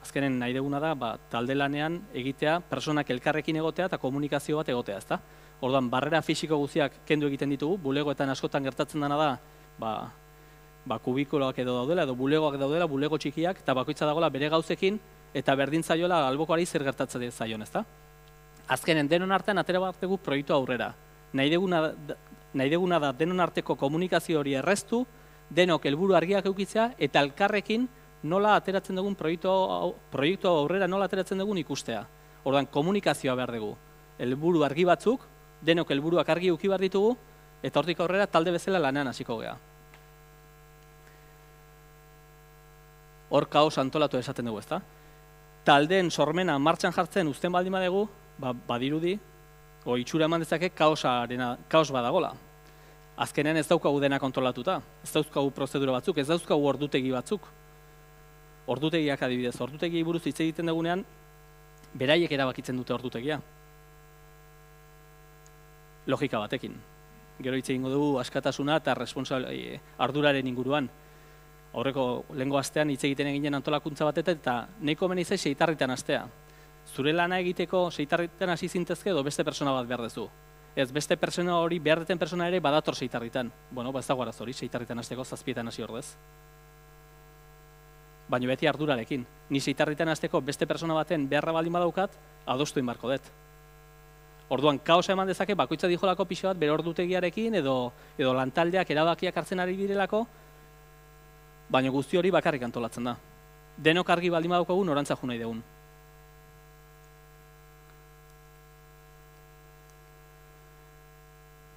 azkenen nahi duguna da, talde lanean egitea, personak elkarrekin egotea eta komunikazio bat egotea, ezta? Orduan, barrera fisiko guztiak kendu egiten ditugu, bulegoetan askotan gertatzen dena da, kubikuloak edo daudela, edo bulegoak daudela, bulego txikiak, eta bakoitza dagoela bere gauzekin, eta berdin zaiola albokoari zer gertatzen zaion, ezta? Azkenen, denon artean atera bat dugu proiektu aurrera. Nahi deguna da denon arteko komunikazio hori erreztu, denok helburu argiak eukitzea, eta elkarrekin nola ateratzen dugun proiektu aurrera nola ateratzen dugun ikustea. Orduan, komunikazioa behar dugu. Helburu argi batzuk, denok helburuak argi euki behar ditugu, eta hortik aurrera talde bezala lanean hasiko gea. Hor kaos antolatu esaten dugu, ezta? Taldeen sormena martxan jartzen uzten baldin badegu, badirudi, itxura eman dezake kaos badagola. Azkenean ez daukagu dena kontrolatuta, ez dauzkagu prozedura batzuk, ez dauzkagu ordutegi batzuk. Ordutegiak adibidez, ordutegi buruz hitz egiten dugunean, beraiek erabakitzen dute ordutegia. Logika batekin. Gero hitz egingo dugu askatasuna eta arduraren inguruan. Aurreko lehengo astean hitz egiten eginen antolakuntza batetan eta nahiko meni zai seitarritan astea. Zure lana egiteko seitarritan hasi zintezke edo beste persona bat behar duzu. Ez, beste persona hori behar deten persona ere badator seitarritan. Ez dago arazo hori, seitarritan hasteko 7etan hasi ordez. Baina beti ardurarekin. Ni seitarritan hasteko beste persona baten beharra baldin badaukat, adostu inbarko dut. Orduan, kaosa eman dezake, bakoitza dijolako pixo bat, bere ordutegiarekin edo lantaldeak erabakiak hartzen ari direlako, baina guzti hori bakarrik antolatzen da. Denok argi baldin badaukagu norantza jo nahi dugun.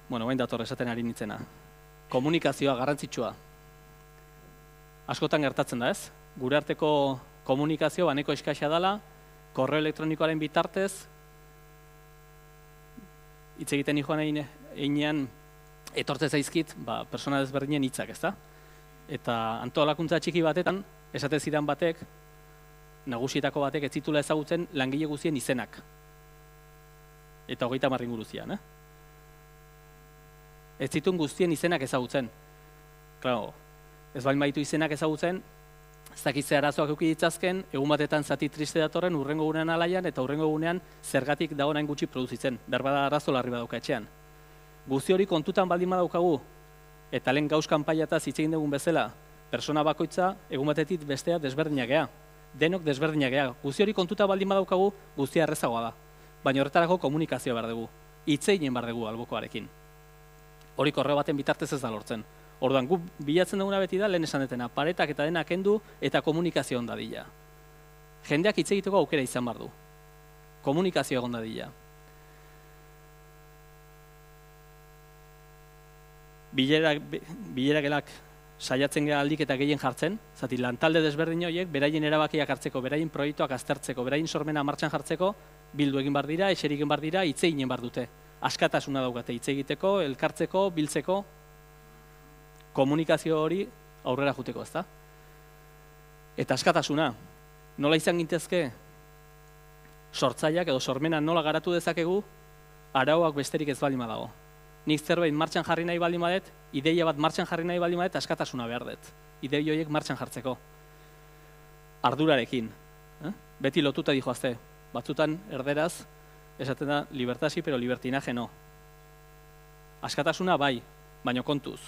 Bain dator esaten ari nintzena. Komunikazioa garrantzitsua. Askotan gertatzen da, ez? Gure arteko komunikazio baneko eskaxa dela, korreo elektronikoaren bitartez, hitz egiten joan einean etortze zaizkit, persona desberdinen hitzak, ezta? Eta antolakuntza txiki batetan, esate zidan batek, nagusietako batek ez zitula ezagutzen langile guztien izenak. Eta 30 inguruzian, Ez zituen guztien izenak ezagutzen. Claro, ez bain baitu izenak ezagutzen, ez dakitze arazoak euki ditzazken, egun batetan zati triste datorren urrengo gunean alaian eta urrengo gunean zergatik dago nahin gutxi produzitzen, berbada arazo larri badauka etxean. Guzti hori kontutan baldin badaukagu, eta lehen gauz kanpaiataz hitz egin dugun bezala, persona bakoitza egun batetik bestea desberdinak gea. Denok desberdinak gea. Guzti hori kontuta baldin badaukagu, guztia errezagoa da. Baina horretarako komunikazioa behar dugu. Hitz egin behar dugu albokoarekin. Hori korreo baten bitartez ez da lortzen. Orduan, gu bilatzen duguna beti da, lehen esan detena, paretak eta denak kendu eta komunikazio onda dila. Jendeak hitz egiteko aukera izan behar du. Komunikazio egon dadila. Bileragelak saiatzen gara aldik eta gehien jartzen, zati lantalde desberdin horiek, beraien erabakiak hartzeko, beraien proiektuak aztertzeko, beraien sormena martxan jartzeko, bildu egin behar dira, eserik egin behar dira, hitz egin behar dute. Askatasuna daukate, hitz egiteko, elkartzeko, biltzeko, komunikazio hori aurrera juteko, ezta? Eta askatasuna, nola izan gintezke sortzaileak edo sormena nola garatu dezakegu, arauak besterik ez baldin badago. Nik zerbait martxan jarri nahi baldin badet, ideia bat martxan jarri nahi baldin badet, askatasuna behar dut. Idei horiek martxan jartzeko. Ardurarekin. Beti lotuta dijoazte. Batzutan erderaz, esaten da, libertasi, pero libertinaje no. Askatasuna bai, baino kontuz.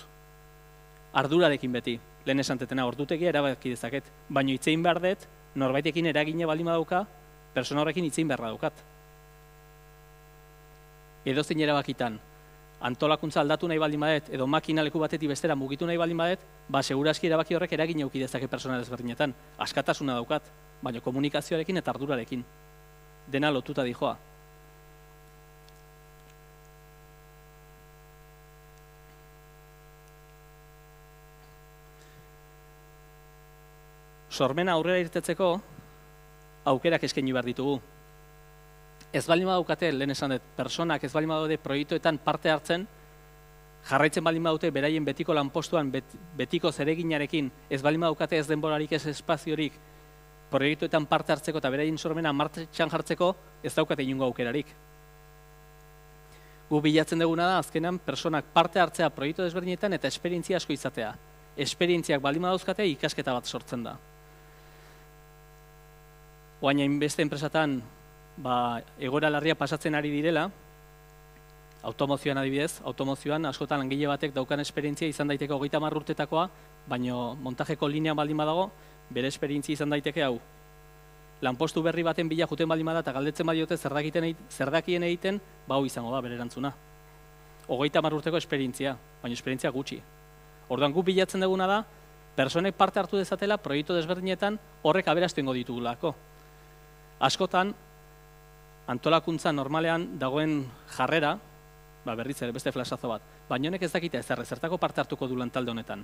Ardurarekin beti. Lehen esantetena ordutegia erabaki dezaket. Baino hitzein behar dut, norbaitekin eragine baldin badauka, persona horrekin hitzein beharra daukat. Edozein erabakitan, antolakuntza aldatu nahi baldin badet, edo makina leku batetik bestera mugitu nahi baldin badet, segurazki erabaki horrek eragin eduki dezake persona desberdinetan. Askatasuna daukat, baina komunikazioarekin eta ardurarekin. Dena lotuta dijoa. Sormena aurrera irtetzeko, aukerak eskaini behar ditugu. Ez baldin badaukate, lehen esan dut, personak ez baldin badaude proiektuetan parte hartzen, jarraitzen baldin badute beraien betiko lanpostuan, betiko zereginarekin, ez baldin badaukate ez denborarik, ez espaziorik, proiektuetan parte hartzeko eta beraien sormena martxan jartzeko, ez daukate inungo aukerarik. Gu bilatzen duguna da, azkenan, personak parte hartzea proiektu desberdinetan eta esperientzia asko izatea. Esperientziak baldin badauzkate, ikasketa bat sortzen da. Oain hainbeste enpresatan, egoera larria pasatzen ari direla, automozioan adibidez, automozioan askotan langile batek daukan esperientzia izan daiteke 30 urtetakoa, baino montajeko linea baldin badago, bere esperientzia izan daiteke hau. Lanpostu berri baten bila juten baldin bada eta galdetzen badiote zer dakien egiten, hau izango da bere erantzuna. 30 urteko esperientzia, baina esperientzia gutxi. Orduan gu bilatzen duguna da, personek parte hartu dezatela proiektu desberdinetan horrek aberastu ingo ditugulako. Askotan, antolakuntza normalean dagoen jarrera, berriz ere beste flashazo bat, baina honek ez dakite zertako parte hartuko du lantalde honetan.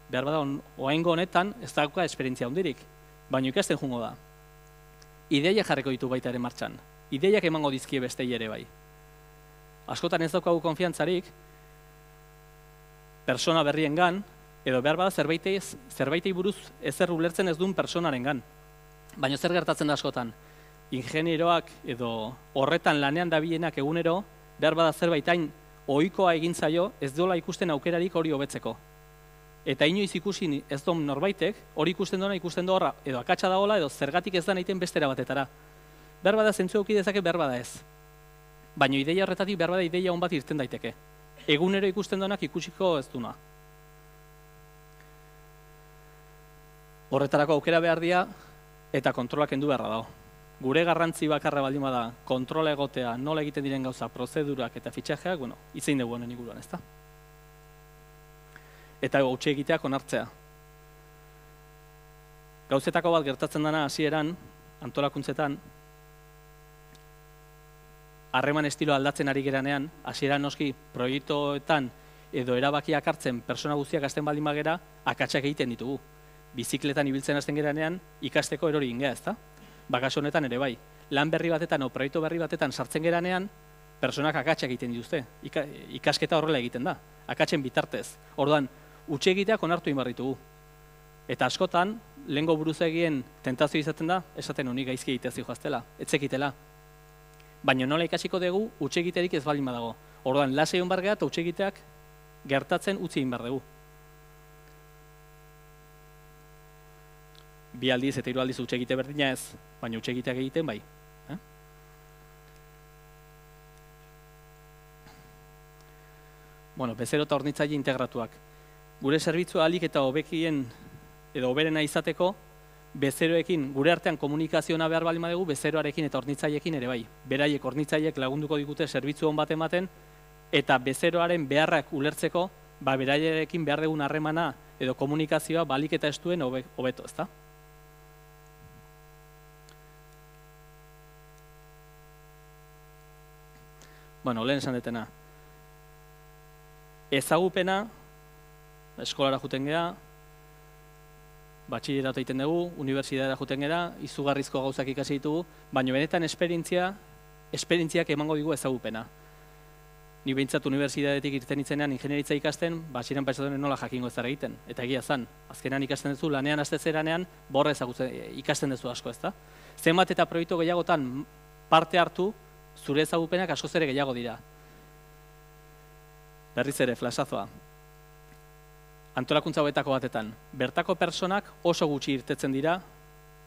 Behar bada, oraingo honetan ez dauka esperientzia handirik, baina ikasten joango da. Ideiak jarriko ditu baita ere martxan, ideiak emango dizkie bestei ere bai. Askotan ez daukagu konfiantzarik, persona berriengan, edo behar bada zerbaitei buruz ezer ulertzen ez duen personarengan. Baina zer gertatzen da askotan, ingenieroak edo horretan lanean dabilenak egunero, behar bada zerbaitain ohikoa egin zaio ez dola ikusten aukerarik hori hobetzeko. Eta inoiz ikusi ez duen norbaitek, hori ikusten du horra, edo akatsa dagoela, edo zergatik ez da nahiten bestera batetara. Behar bada zentzu eduki dezake, behar bada ez. Baina ideia horretatik behar bada ideia hon bat irten daiteke. Egunero ikusten duenak ikusiko ez duna. Horretarako aukera behar dira, eta kontrolak kendu beharra dago. Gure garrantzi bakarra baldin bada kontrola egotea, nola egiten diren gauza, prozedurak eta fitxajeak, itzein dugu honen inguruan, ezta? Eta gautxe egiteak onartzea. Gauzetako bat gertatzen dana hasieran, antolakuntzetan, harreman estilo aldatzen ari geranean, hasieran noski proiektuetan edo erabakiak hartzen persona guztiak hasten baldin bagera, akatsak egiten ditugu. Bizikletan ibiltzen hasten geranean, ikasteko erori ingea, ezta? Kasu honetan ere bai. Lan berri batetan o proiektu berri batetan sartzen geranean, personak akatsak egiten dituzte. Ikasketa horrela egiten da. Akatsen bitartez. Orduan, utxe egiteak onartu egin behar ditugu. Eta askotan, lehengo buruzagien tentazio izaten da, esaten honi gaizki egitea zijoaztela, etzekitela. Baina nola ikasiko dugu, utxe egiterik ez baldin badago. Orduan, lasai hon bargea eta utxe egiteak gertatzen utzi egin behar dugu. Bi aldiz eta hiru aldiz utxe egite berdina ez, baina utxe egiteak egiten bai. Bezero eta hornitzaile integratuak. Gure zerbitzua ahalik eta hobekien edo hoberena izateko, bezeroekin, gure artean komunikazioa behar bali madugu, bezeroarekin eta hornitzaileekin ere bai. Beraiek hornitzaileek lagunduko digute zerbitzu on bat ematen, eta bezeroaren beharrak ulertzeko, beraiekin behar dugun harremana edo komunikazioa balik eta estuen hobeto, ezta? Bueno, lehen esan detena. Ezagupena, eskolara juten gea, batxilleratu egiten dugu, unibertsitatera juten gera, izugarrizko gauzak ikasi ditugu, baina benetan esperientziak emango digu ezagupena. Ni behintzat unibertsitatetik irten itzenean ingenieritza ikasten, batxiren pentsatzen nola jakingo ez egiten. Eta egia zan, azkenan ikasten duzu, lanean astezeranean, borra ikasten duzu asko, ezta? Zenbat eta proiektu gehiagotan parte hartu, zure ezagupenak askoz ere gehiago dira. Berriz ere, flashazoa. Antolakuntza hauetako batetan, bertako personak oso gutxi irtetzen dira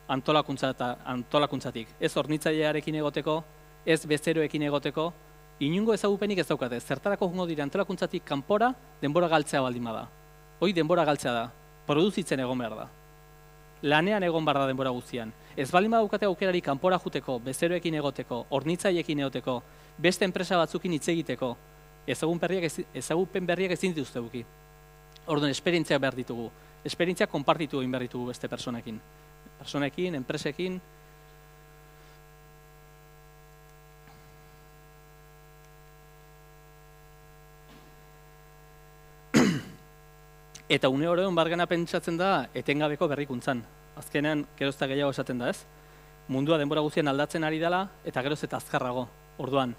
antolakuntzatik. Ez hornitzailearekin egoteko, ez bezeroekin egoteko, inungo ezagupenik ez daukate. Zertarako jungo dira antolakuntzatik kanpora denbora galtzea baldin bada. Hoi denbora galtzea da, produzitzen egon behar da. Lanean egon behar da denbora guztian. Ez baldin badaukate aukerari kanpora juteko, bezeroekin egoteko, hornitzaileekin egoteko, beste enpresa batzukin hitz egiteko, ezagupen berriak ezin dituzte buki. Orduan, esperientziak behar ditugu. Esperientziak konpartitu egin behar ditugu beste personekin. Personekin, enpresekin. Eta une horrean bargana pentsatzen da etengabeko berrikuntzan. Azkenean, geroz eta gehiago esaten da, ez? Mundua denbora guztian aldatzen ari dela eta geroz eta azkarrago. Orduan,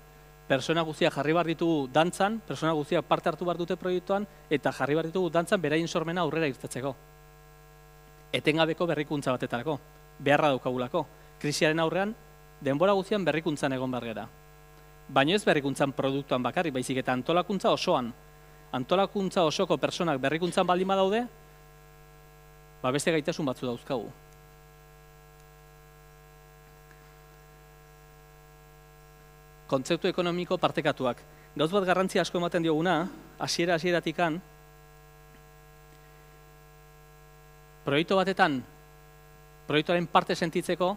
persona guztiak jarri behar ditugu dantzan, persona guztiak parte hartu behar dute proiektuan, eta jarri behar ditugu dantzan beraien sormena aurrera irtetzeko. Etengabeko berrikuntza batetarako, beharra daukagulako. Krisiaren aurrean, denbora guztian berrikuntzan egon behar gera. Baina ez berrikuntzan produktuan bakarrik, baizik eta antolakuntza osoan. Antolakuntza osoko personak berrikuntzan baldin badaude, beste gaitasun batzu dauzkagu. Kontzeptu ekonomiko partekatuak. Gauz bat garrantzia asko ematen dioguna, hasiera-hasieratikan, proiektu batetan, proiektuaren parte sentitzeko,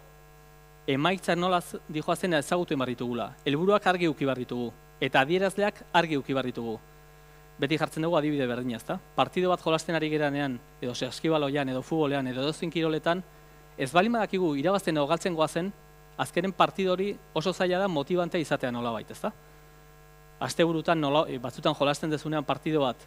emaitzak nola dijoazen ezagutu behar ditugula. Helburuak argi eduki behar ditugu, eta adierazleak argi eduki behar ditugu. Beti jartzen dugu adibide berdina, ezta? Partido bat jolasten ari geranean, edo saskibaloian, edo futbolean, edo edozein kiroletan, ez baldin badakigu irabazten edo galtzen goazen, azkenen partido hori oso zaila da motibantea izatea nolabait, ezta? Asteburutan batzutan jolasten dezunean partido bat,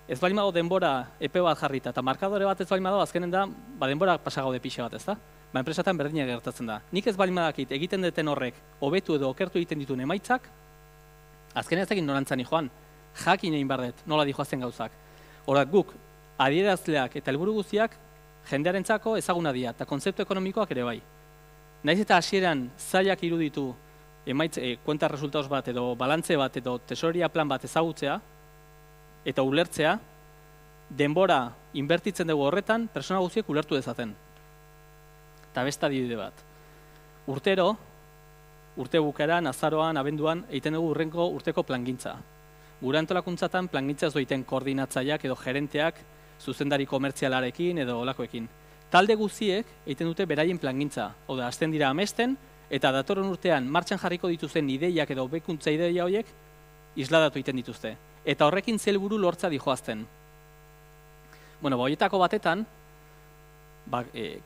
ez baldin badago denbora epe bat jarrita, eta markadore bat ez baldin badago, azkenen da, denbora pasagaude pixe bat, ezta? Enpresatan berdina gertatzen da. Nik ez baldin badakit egiten duten horrek hobetu edo okertu egiten dituen emaitzak, azkenen ez egin norantzani joan. Jakin egin behar dut, nola dijoazten gauzak. Horak guk, adierazleak eta helburu guztiak jendearentzako ezaguna dira, eta kontzeptu ekonomikoak ere bai. Naiz eta hasieran zailak iruditu kuenta resultados bat edo balantze bat edo tesoreria plan bat ezagutzea eta ulertzea, denbora inbertitzen dugu horretan, persona guztiek ulertu dezaten. Eta beste adibide bat. Urtero, urte bukaeran, azaroan, abenduan, egiten dugu urrengo urteko plangintza. Gure antolakuntzatan plangintza ez doiten koordinatzaileak edo gerenteak zuzendari komertzialarekin edo olakoekin. Talde guztiek egiten dute beraien plangintza. Hau da, hasten dira amesten eta datorren urtean martxan jarriko dituzten ideiak edo hobekuntza ideia horiek isladatu egiten dituzte. Eta horrekin helburu lortza dijoazten. Horietako batetan,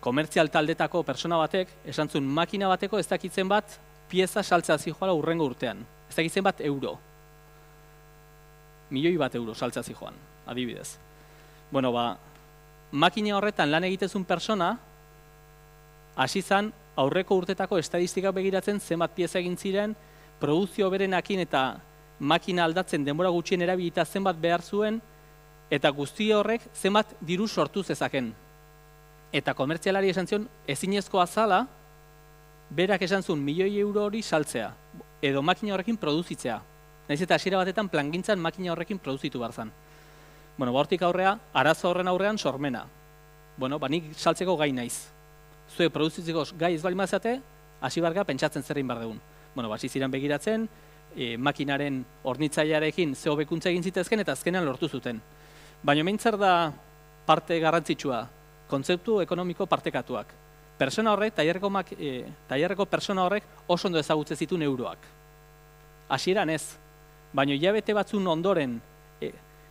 komertzial taldetako persona batek, esan zuen makina bateko ez dakitzen bat pieza saltzea zijoala urrengo urtean. Ez dakitzen bat euro. €1.000.000 saltzea zijoan, adibidez. Makina horretan lan egitezun persona, hasi zan aurreko urtetako estadistikak begiratzen zenbat pieza egin ziren, produzio berenakin eta makina aldatzen denbora gutxien erabilita zenbat behar zuen, eta guzti horrek zenbat diru sortu zezaken. Eta komertzialari esan zion, ezinezkoa zala, berak esan zuen €1.000.000 hori saltzea, edo makina horrekin produzitzea. Naiz eta hasiera batetan plangintzan makina horrekin produzitu behar zan. Hortik aurrea, arazo horren aurrean sormena. Nik saltzeko gai naiz. Zuek produzitzeko gai ez bali mazate, hasi barga pentsatzen zerrein behar dugun. Hasi ziren begiratzen, makinaren hornitzailearekin ze hobekuntza egin zitezken eta azkenean lortu zuten. Baina hemen zer da parte garrantzitsua, kontzeptu ekonomiko partekatuak. Pertsona horrek, tailerreko pertsona horrek oso ondo ezagutzen zituen euroak. Hasieran ez, baina hilabete batzun ondoren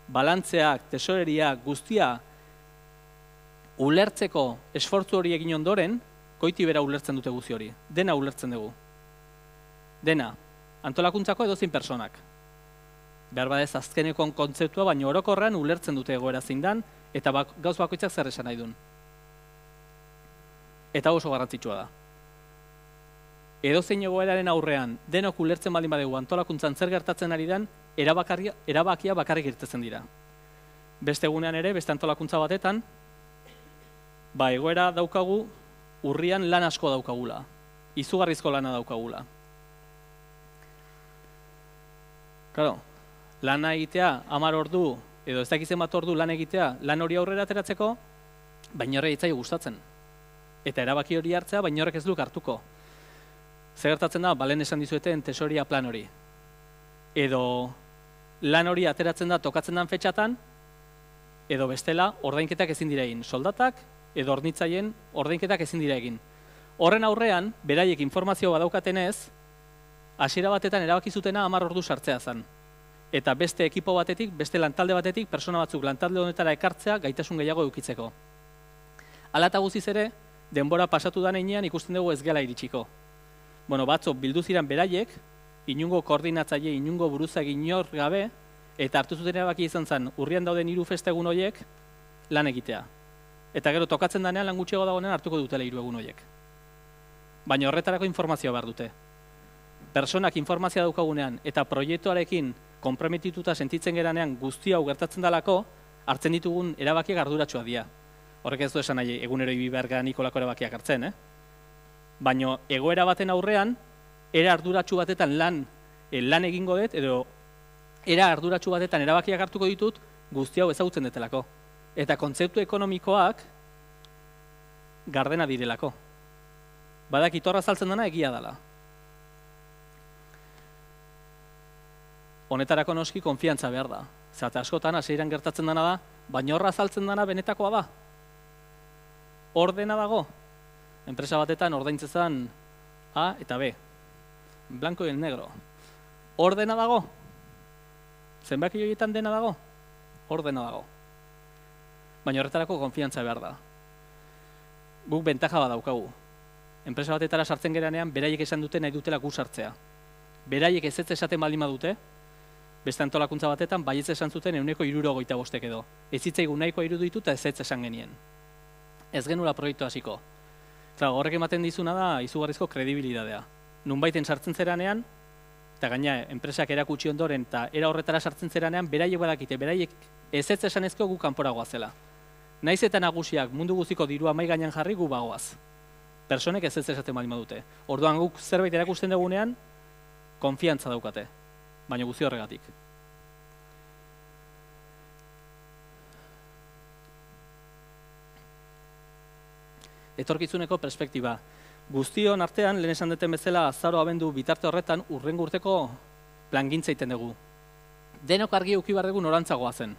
balantzeak, tesoreriak, guztia ulertzeko esfortzu hori egin ondoren, goiti bera ulertzen dute guzti hori. Dena ulertzen dugu. Dena, antolakuntzako edozein personak. Behar badez azkeneko kontzeptua, baina orokorrean ulertzen dute egoera zein dan, eta gauz bakoitzak zer esan nahi duen. Eta oso garrantzitsua da. Edozein egoeraren aurrean, denok ulertzen baldin badegu antolakuntzan zer gertatzen ari den, erabakia bakarrik irtetzen dira. Beste egunean ere, beste antolakuntza batetan, egoera daukagu, urrian lan asko daukagula. Izugarrizko lana daukagula. Claro, lana egitea, 10 ordu, edo ez dakizen bat ordu lan egitea, lan hori aurrera ateratzeko, baina horre itzai gustatzen. Eta erabaki hori hartzea, baina horrek ez duk hartuko. Zer gertatzen da, balen esan dizueten tesoria plan hori. Edo lan hori ateratzen da tokatzen dan fetxatan, edo bestela ordainketak ezin dira egin. Soldatak edo hornitzaien ordainketak ezin dira egin. Horren aurrean, beraiek informazio badaukatenez, hasiera batetan erabaki zutena 10 ordu sartzea zen. Eta beste ekipo batetik, beste lantalde batetik, persona batzuk lantalde honetara ekartzea gaitasun gehiago edukitzeko. Hala eta guztiz ere, denbora pasatu da heinean ikusten dugu ez gela iritsiko. Bueno, batzuk bildu ziren beraiek, inungo koordinatzaile, inungo buruzagi inor gabe, eta hartu zuten erabaki izan zen, urrian dauden 3 festegun horiek lan egitea. Eta gero tokatzen danean lan gutxiago dagoenean hartuko dutela 3 egun horiek. Baina horretarako informazioa behar dute. Personak informazioa daukagunean eta proiektuarekin konprometituta sentitzen geranean guzti hau gertatzen dalako, hartzen ditugun erabakiak arduratsuak dira. Horrek ez du esan nahi egunero ibi behar gara nikolako erabakiak hartzen, Baina egoera baten aurrean, era arduratsu batetan lan egingo dut, edo era arduratsu batetan erabakiak hartuko ditut guzti hau ezagutzen detelako. Eta kontzeptu ekonomikoak gardena direlako. Badakit horra azaltzen dena egia dela. Honetarako noski konfiantza behar da. Zate askotan hasieran gertatzen dena da, baina horra azaltzen dena benetakoa da. Ordena dago. Enpresa batetan ordaintzezan A eta B. Blanco y el negro. Ordena dago. Zenbaki horietan dena dago. Ordena dago. Baina horretarako konfiantza behar da. Guk bentaja bat daukagu. Enpresa batetara sartzen geranean, beraiek esan dute nahi dutela gu sartzea. Beraiek ez esaten baldin badute, beste antolakuntza batetan, baietz esan zuten 165 edo. Ez zitzaigun nahikoa iruditu eta ez esan genien. Ez genula proiektu hasiko. Horrek ematen dizuna da izugarrizko kredibilidadea. Nunbaiten sartzen zeranean, eta gaina enpresak erakutsi ondoren eta era horretara sartzen zeranean, beraiek badakite, beraiek ez esan ezko gu kanporagoa zela. Naiz eta nagusiak mundu guztiko dirua mai gainean jarri gu bagoaz. Personek ez esaten baldin badute. Orduan guk zerbait erakusten dugunean, konfiantza daukate, baina guzti horregatik. Etorkizuneko perspektiba. Guztion artean, lehen esan duten bezala, azaro abendu bitarte horretan, urrengo urteko plangintza egiten dugu. Denok argi eduki behar dugu norantzagoa zen.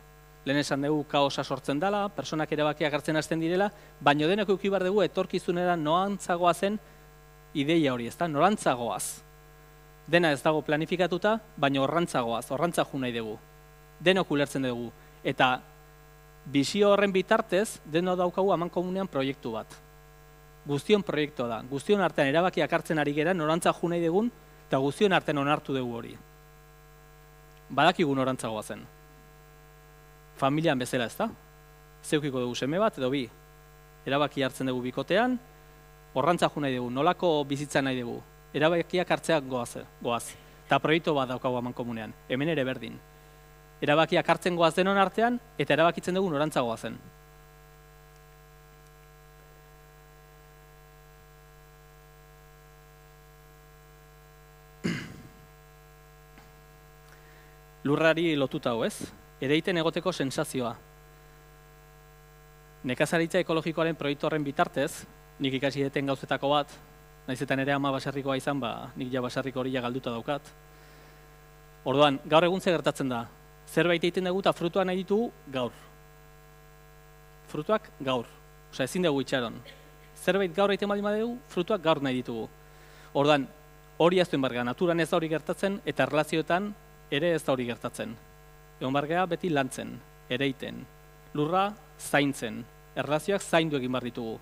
Lehen esan dugu kaosa sortzen dela, personak erabakiak hartzen hasten direla, baina denok eduki behar dugu etorkizunera norantzagoa zen ideia hori, ezta? Norantzagoaz. Dena ez dago planifikatuta, baina horrantzagoaz, horrantzago nahi dugu. Denok ulertzen dugu. Eta bizio horren bitartez, denok daukagu amankomunean proiektu bat. Guztion proiektua da. Guztion artean erabakiak hartzen ari gera, norantzago nahi dugun, eta guztion artean onartu dugu hori. Badakigu norantzagoa zen. Familian bezala, ezta? Zeukiko dugu seme bat edo bi. Erabaki hartzen dugu bikotean, horrantzago nahi dugu, nolako bizitza nahi dugu. Erabakiak hartzeak goaz. Eta proiektu bat daukagu amankomunean. Hemen ere berdin. Erabakiak hartzen goaz denon artean, eta erabakitzen dugu norantzagoa zen. Lurrari lotuta hau, ez? Ereiten egoteko sensazioa. Nekazaritza ekologikoaren proiektu horren bitartez, nik ikasi deten gauzetako bat, nahizetan ere ama baserrikoa izan, nik ja baserriko hori galduta daukat. Orduan, gaur egun ze gertatzen da. Zerbait egiten dugu eta frutuak nahi ditugu gaur. Frutuak gaur. Osea, ezin dugu itxaron. Zerbait gaur egiten baldin badugu, frutuak gaur nahi ditugu. Ordan, hori ez duen bargea, naturan ez da hori gertatzen, eta erlazioetan ere ez da hori gertatzen. Egon bargea beti lantzen, ereiten, lurra zaintzen, erlazioak zaindu egin behar ditugu.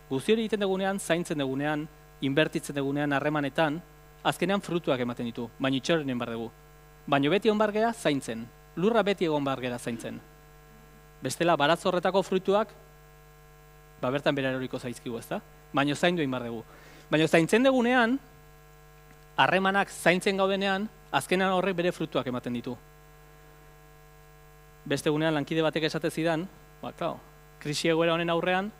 Guzti hori egiten dugunean, zaintzen dugunean, inbertitzen dugunean harremanetan, azkenean frutuak ematen ditu, baina itxoren behar dugu. Baina beti egon bargea zaintzen, lurra beti egon bargera zaintzen. Bestela, baratz horretako fruituak, bertan bera eroriko zaizkigu, ezta? Baina zaindu egin behar dugu. Baina zaintzen dugunean, harremanak zaintzen gaudenean, azkenean horrek bere frutuak ematen ditu. Beste egunean lankide batek esate zidan, krisi egoera honen aurrean,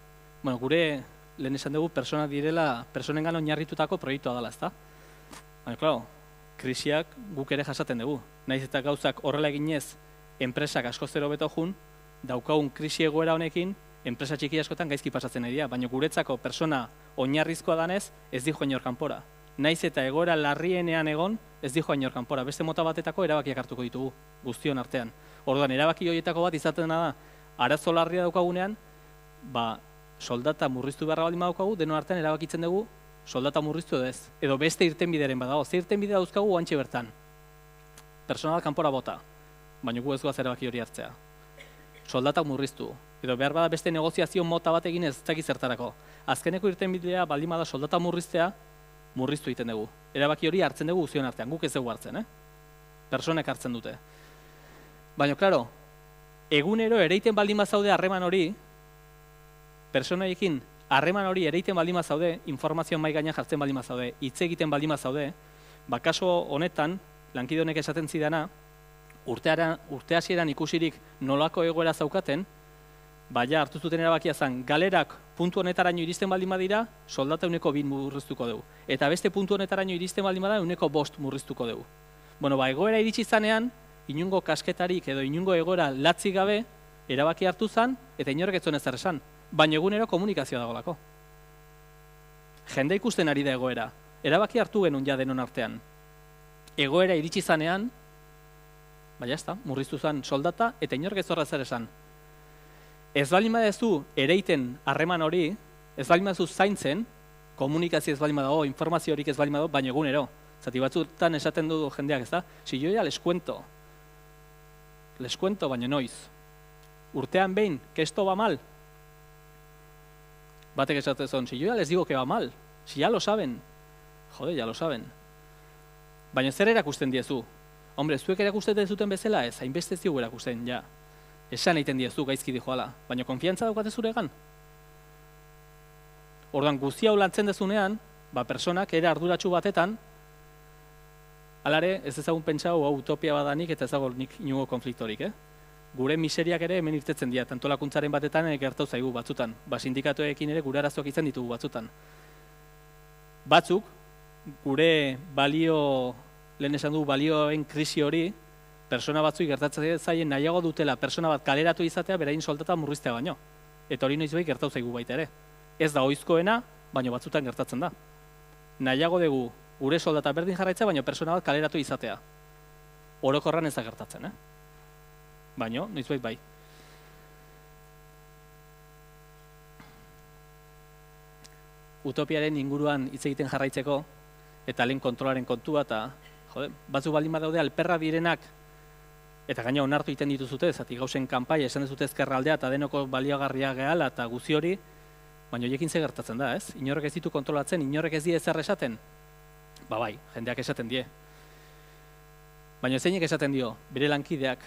gure lehen esan dugu pertsonak direla, personengan oinarritutako proiektua dela, ezta? Baina, krisiak guk ere jasaten dugu. Naiz eta gauzak horrela eginez, enpresak asko zero beto jun, daukagun krisi egoera honekin, enpresa txiki askotan gaizki pasatzen nahi dira, baina guretzako persona oinarrizkoa danez, ez dijo inor kanpora. Naiz eta egoera larrienean egon, ez dijo inor kanpora. Beste mota batetako erabakiak hartuko ditugu, guztion artean. Orduan, erabaki horietako bat izaten da, arazo larria daukagunean, soldata murriztu beharra baldin badaukagu, denon artean erabakitzen dugu, soldata murriztu edo ez. Edo beste irtenbideren badago, ze irtenbide dauzkagu oantxe bertan. Personal kanpora bota, baina gu ez goaz erabaki hori hartzea. Soldatak murriztu, edo behar bada beste negoziazio mota bat egin ez dakit zertarako. Azkeneko irtenbidea baldin bada soldata murriztea, murriztu egiten dugu. Erabaki hori hartzen dugu guztion artean, guk ez dugu hartzen, Personek hartzen dute. Baina, klaro, egunero ereiten baldin bazaude harreman hori, personaiekin harreman hori ereiten baldin bazaude, informazio mai gainean jartzen baldin bazaude, hitz egiten baldin bazaude, kaso honetan, lankide honek esaten zidana, urte hasieran ikusirik nolako egoera zaukaten, hartu zuten erabakia zen, galerak puntu honetaraino iristen baldin badira, soldata 2 murriztuko dugu. Eta beste puntu honetaraino iristen baldin bada, 5 murriztuko dugu. Egoera iritsi zanean, inungo kasketarik edo inungo egoera latzi gabe, erabaki hartu zen, eta inorek ez zuen ezer esan. Baina egunero komunikazioa dagolako. Jende ikusten ari da egoera. Erabaki hartu genuen ja denon artean. Egoera iritsi zanean, murriztu zen soldata, eta inorek ez horra zer esan. Ez baldin badezu ereiten harreman hori, ez baldin badezu zaintzen, komunikazio ez baldin badago, informazio horik ez baldin badago, baina egunero. Zati batzutan esaten du jendeak, ez da? Si yo ya les cuento, baina noiz. Urtean behin, que esto va mal. Batek esaten zon, si yo ya les digo que va mal, si ya lo saben. Jode, ya lo saben. Baina zer erakusten diezu? Hombre, zuek erakusten dezuten bezala ez, hainbeste zigu erakusten, ja. Esan egiten diezu gaizki dijoala, baina konfiantza daukate zuregan. Orduan, guzti hau lantzen dezunean, personak ere arduratsu batetan, alare, ez ezagun pentsau hau utopia badanik eta ezagun nik inungo konfliktorik, Gure miseriak ere hemen irtetzen dira, antolakuntzaren batetan gertau zaigu batzutan. Sindikatuekin ere gure arazoak izan ditugu batzutan. Batzuk, gure lehen esan du balioen krisi hori, persona batzuk gertatzen zaien nahiago dutela persona bat kaleratu izatea berain soldata murriztea baino. Eta hori noizbait gertau zaigu baita ere. Ez da ohizkoena, baina batzutan gertatzen da. Nahiago dugu gure soldata berdin jarraitzea, baina persona bat kaleratu izatea. Orokorran ez da gertatzen, Baina, noizbait bai. Utopiaren inguruan hitz egiten jarraitzeko, eta lehen kontrolaren kontua, eta batzuk baldin badaude alperra direnak, eta gaina onartu egiten dituzute, zati gauzen kanpaia esan dezute ezkerraldea eta denoko baliogarria gehala eta guzi hori, baina horiekin ze gertatzen da, ez? Inorrek ez ditu kontrolatzen, inorrek ez die ezer esaten? Bai, jendeak esaten die. Baina zeinek esaten dio, bere lankideak.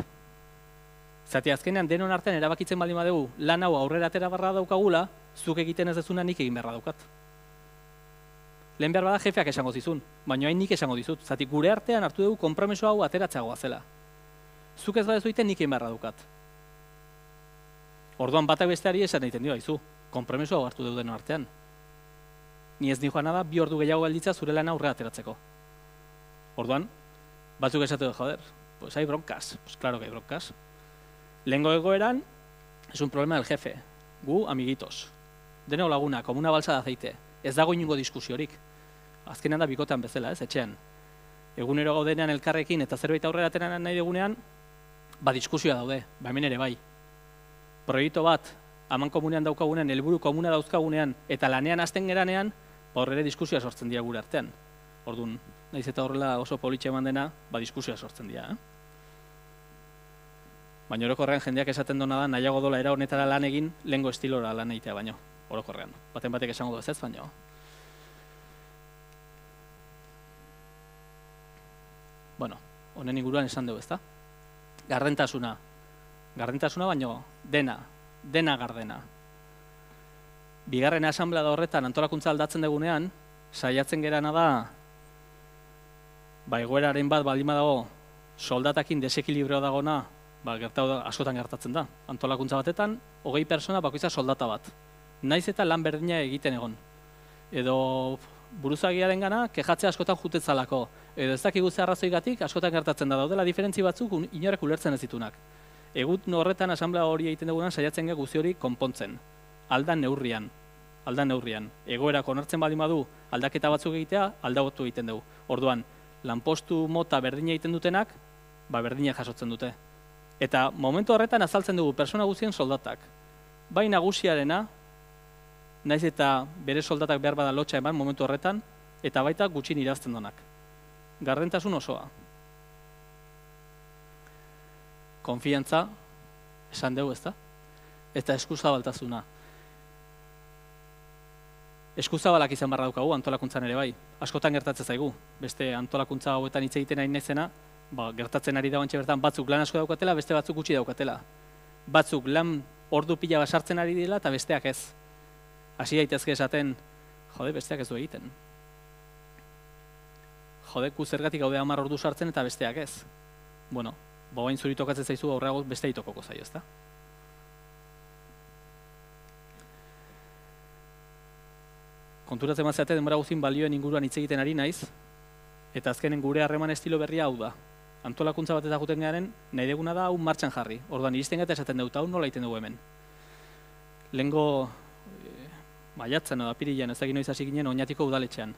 Zati azkenean denon artean erabakitzen baldin badugu lan hau aurrera atera barra daukagula, zuk egiten ez dezuna nik egin beharra daukat. Lehen behar bada jefeak esango zizun, baina hain nik esango dizut. Zati gure artean hartu dugu konpromiso hau ateratzagoa zela. Zuk ez badezu egiten nik egin beharra daukat. Orduan batak besteari esan egiten dio, haizu, konpromiso hau hartu dugu denon artean. Ni ez nijoa nada, 2 ordu gehiago gelditza zure lana aurrera ateratzeko. Orduan, batzuk esatu du, joder, pues hay broncas. Pues claro que hay broncas. Lehengo egoeran, es un problema del jefe. Gu, amiguitos. Deneo laguna, como una balsa de aceite. Ez dago inungo diskusiorik. Azkenean da bikotean bezala, ez, etxean. Egunero gaudenean elkarrekin eta zerbait aurrera ateratzen nahi dugunean, diskusioa daude, hemen ere bai. Proiektu bat aman komunean daukagunean, helburu komuna dauzkagunean, eta lanean hasten geranean, hor ere diskusioa sortzen dira gure artean. Orduan, naiz eta horrela oso politxe eman dena, diskusioa sortzen dira. Baina orokorrean jendeak esaten dona da, nahiago dola era honetara lan egin, lehengo estilora lan egitea baino, orokorrean. Baten batek esango du ez baino. Bueno, honen inguruan esan dugu, ezta? Gardentasuna. Gardentasuna baino, dena gardena. Bigarren asanblada horretan antolakuntza aldatzen dugunean, saiatzen gerana da, egoeraren bat baldin badago soldatakin desekilibrio dagona, askotan gertatzen da. Antolakuntza batetan, 20 persona bakoitza soldata bat. Naiz eta lan berdina egiten egon. Edo buruzagiaren gana, kejatzea askotan jutetzalako. Edo ez dakigu ze arrazoigatik askotan gertatzen da daudela diferentzi batzuk inorek ulertzen ez ditunak. Egun horretan asanblea hori egiten dugunan saiatzen gara guzti hori konpontzen. Aldan neurrian. Egoerak onartzen baldin badu aldaketa batzuk egitea, aldatu egiten dugu. Orduan, lanpostu mota berdina egiten dutenak, berdina jasotzen dute. Eta momentu horretan azaltzen dugu persona guztien soldatak. Bai nagusiarena, naiz eta bere soldatak behar bada lotxa eman momentu horretan, eta baita gutxin irazten donak. Gardentasun osoa. Konfiantza, esan dugu ezta? Eta eskuzabaltasuna. Eskuzabalak izan barra daukagu antolakuntzan ere bai. Askotan gertatzen zaigu. Beste antolakuntza hauetan hitz egiten ari naizena, gertatzen ari da bantxe bertan batzuk lan asko daukatela, beste batzuk gutxi daukatela. Batzuk lan ordu pila basartzen ari dela eta besteak ez. Hasi daitezke esaten, besteak ez du egiten. Gu zergatik gaude 10 ordu sartzen eta besteak ez. Bueno, bain zuri tokatzen zaizu aurreago beste itokoko zaio, ezta? Konturatzen mazeate denbora guztin balioen inguruan hitz egiten ari naiz, eta azkenen gure harreman estilo berria hau da. Antolakuntza bat eta guten garen, nahi deguna da hau martxan jarri. Orduan, iristen gata esaten dut, hau nola egiten dugu hemen. Lehengo maiatzen edo apirilean ez egin noiz hasi ginen Oñatiko udaletxean.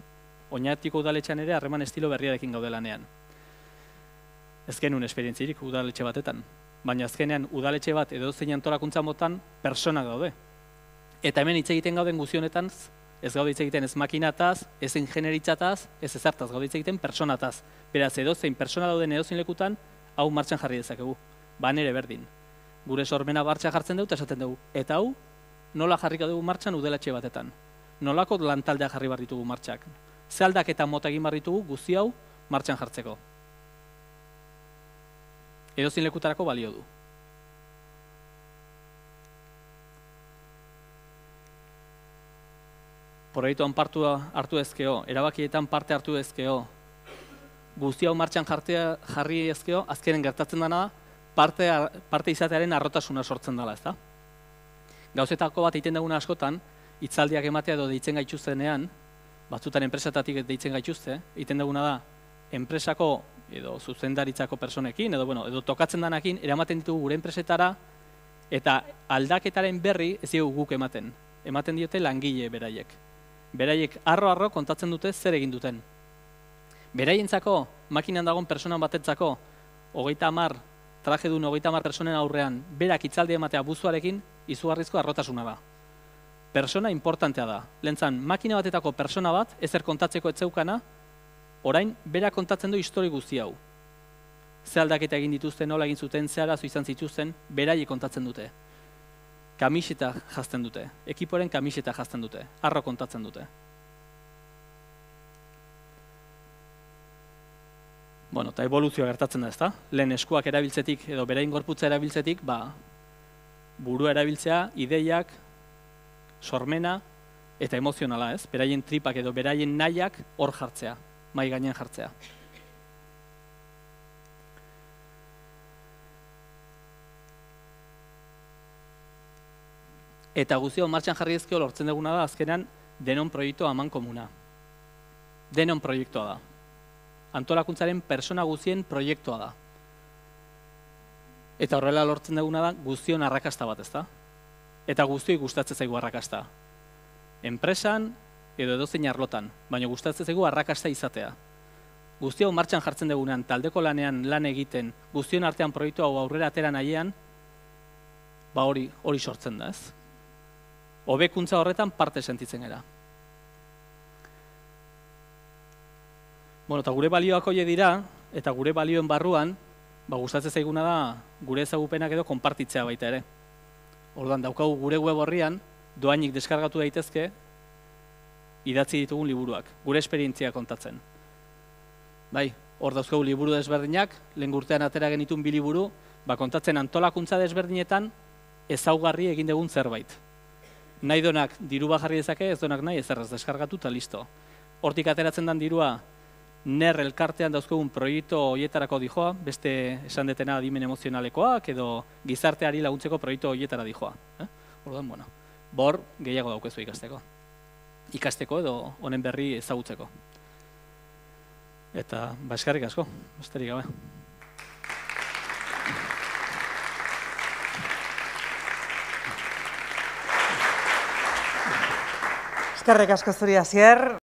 Oñatiko udaletxean ere harreman estilo berriarekin gaude lanean. Ez genuen esperientzirik udaletxe batetan. Baina azkenean udaletxe bat edo zein antolakuntza motan personak daude. Eta hemen hitz egiten gauden guzionetan, ez gaude hitz egiten ez makinataz, ez ingenieritzataz, ez ezartaz, gaude hitz egiten personataz. Beraz, edozein persona dauden edozein lekutan, hau martxan jarri dezakegu. Ere berdin. Gure sormena martxan jartzen dugu eta esaten dugu. Eta hau, nola jarriko dugu martxan udaletxe batetan. Nolako lantaldea jarri behar ditugu martxak. Ze aldaketa mota egin behar ditugu guzti hau martxan jartzeko. Edozein lekutarako balio du. Proiektuan hartu ezkeo, erabakietan parte hartu ezkeo, guzti hau martxan jarri ezkeo, azkenen gertatzen dena parte izatearen arrotasuna sortzen dela, ezta? Gauzetako bat egiten duguna askotan, hitzaldiak ematea edo deitzen gaituztenean, batzutan enpresatatik deitzen gaituzte, egiten duguna da, enpresako edo zuzendaritzako personekin, edo tokatzen danakin, eramaten ditugu gure enpresetara, eta aldaketaren berri ez dugu guk ematen. Ematen diote langile beraiek. Beraiek arro kontatzen dute zer egin duten. Beraientzako, makinan dagoen personan batetzako, 30 traje duen 30 personen aurrean, berak hitzaldi ematea buzuarekin, izugarrizko arrotasuna da. Persona importantea da. Lehentzan, makina batetako persona bat, ezer kontatzeko etzeukana, orain, berak kontatzen du histori guzti hau. Ze aldaketa egin dituzten, nola egin zuten, ze arazo izan zituzten, beraiek kontatzen dute. Kamiseta jazten dute, ekiporen kamiseta jazten dute, arro kontatzen dute. Eta evoluzioa gertatzen da, ezta? Lehen eskuak erabiltzetik edo berain gorputza erabiltzetik, burua erabiltzea, ideiak, sormena eta emozionala, ez? Beraien tripak edo beraien nahiak hor jartzea, mai gainean jartzea. Eta guztio martxan jarri ezkeo lortzen duguna da azkenan denon proiektua aman komuna. Denon proiektua da. Antolakuntzaren persona guztien proiektua da. Eta horrela lortzen duguna da guztion arrakasta bat, ezta? Eta guztioi gustatzen zaigu arrakasta. Enpresan edo edozein arlotan, baina gustatzen zaigu arrakasta izatea. Guztio martxan jartzen dugunean, taldeko lanean lan egiten, guztion artean proiektua hau aurrera atera nahiean, hori sortzen da, ez? hobekuntza horretan parte sentitzen gara. Bueno, eta gure balioak horiek dira, eta gure balioen barruan, gustatzen zaiguna da gure ezagupenak edo konpartitzea baita ere. Orduan, daukagu gure web horrian, doainik deskargatu daitezke, idatzi ditugun liburuak, gure esperientzia kontatzen. Bai, hor dauzkagu liburu desberdinak, lehen urtean atera genitun 2 liburu, kontatzen antolakuntza desberdinetan ezaugarri egin dugun zerbait. Nahi donak diru jarri dezake, ez donak nahi ezerrez deskargatu eta listo. Hortik ateratzen den dirua, NER elkartean dauzkagun proiektu horietarako dijoa, beste esan detena adimen emozionalekoak edo gizarteari laguntzeko proiektu horietara dijoa. Orduan, bueno, bor gehiago daukezu ikasteko. Ikasteko edo honen berri ezagutzeko. Eta, eskerrik asko, besterik gabe. Eskerrik asko zuri, Asier.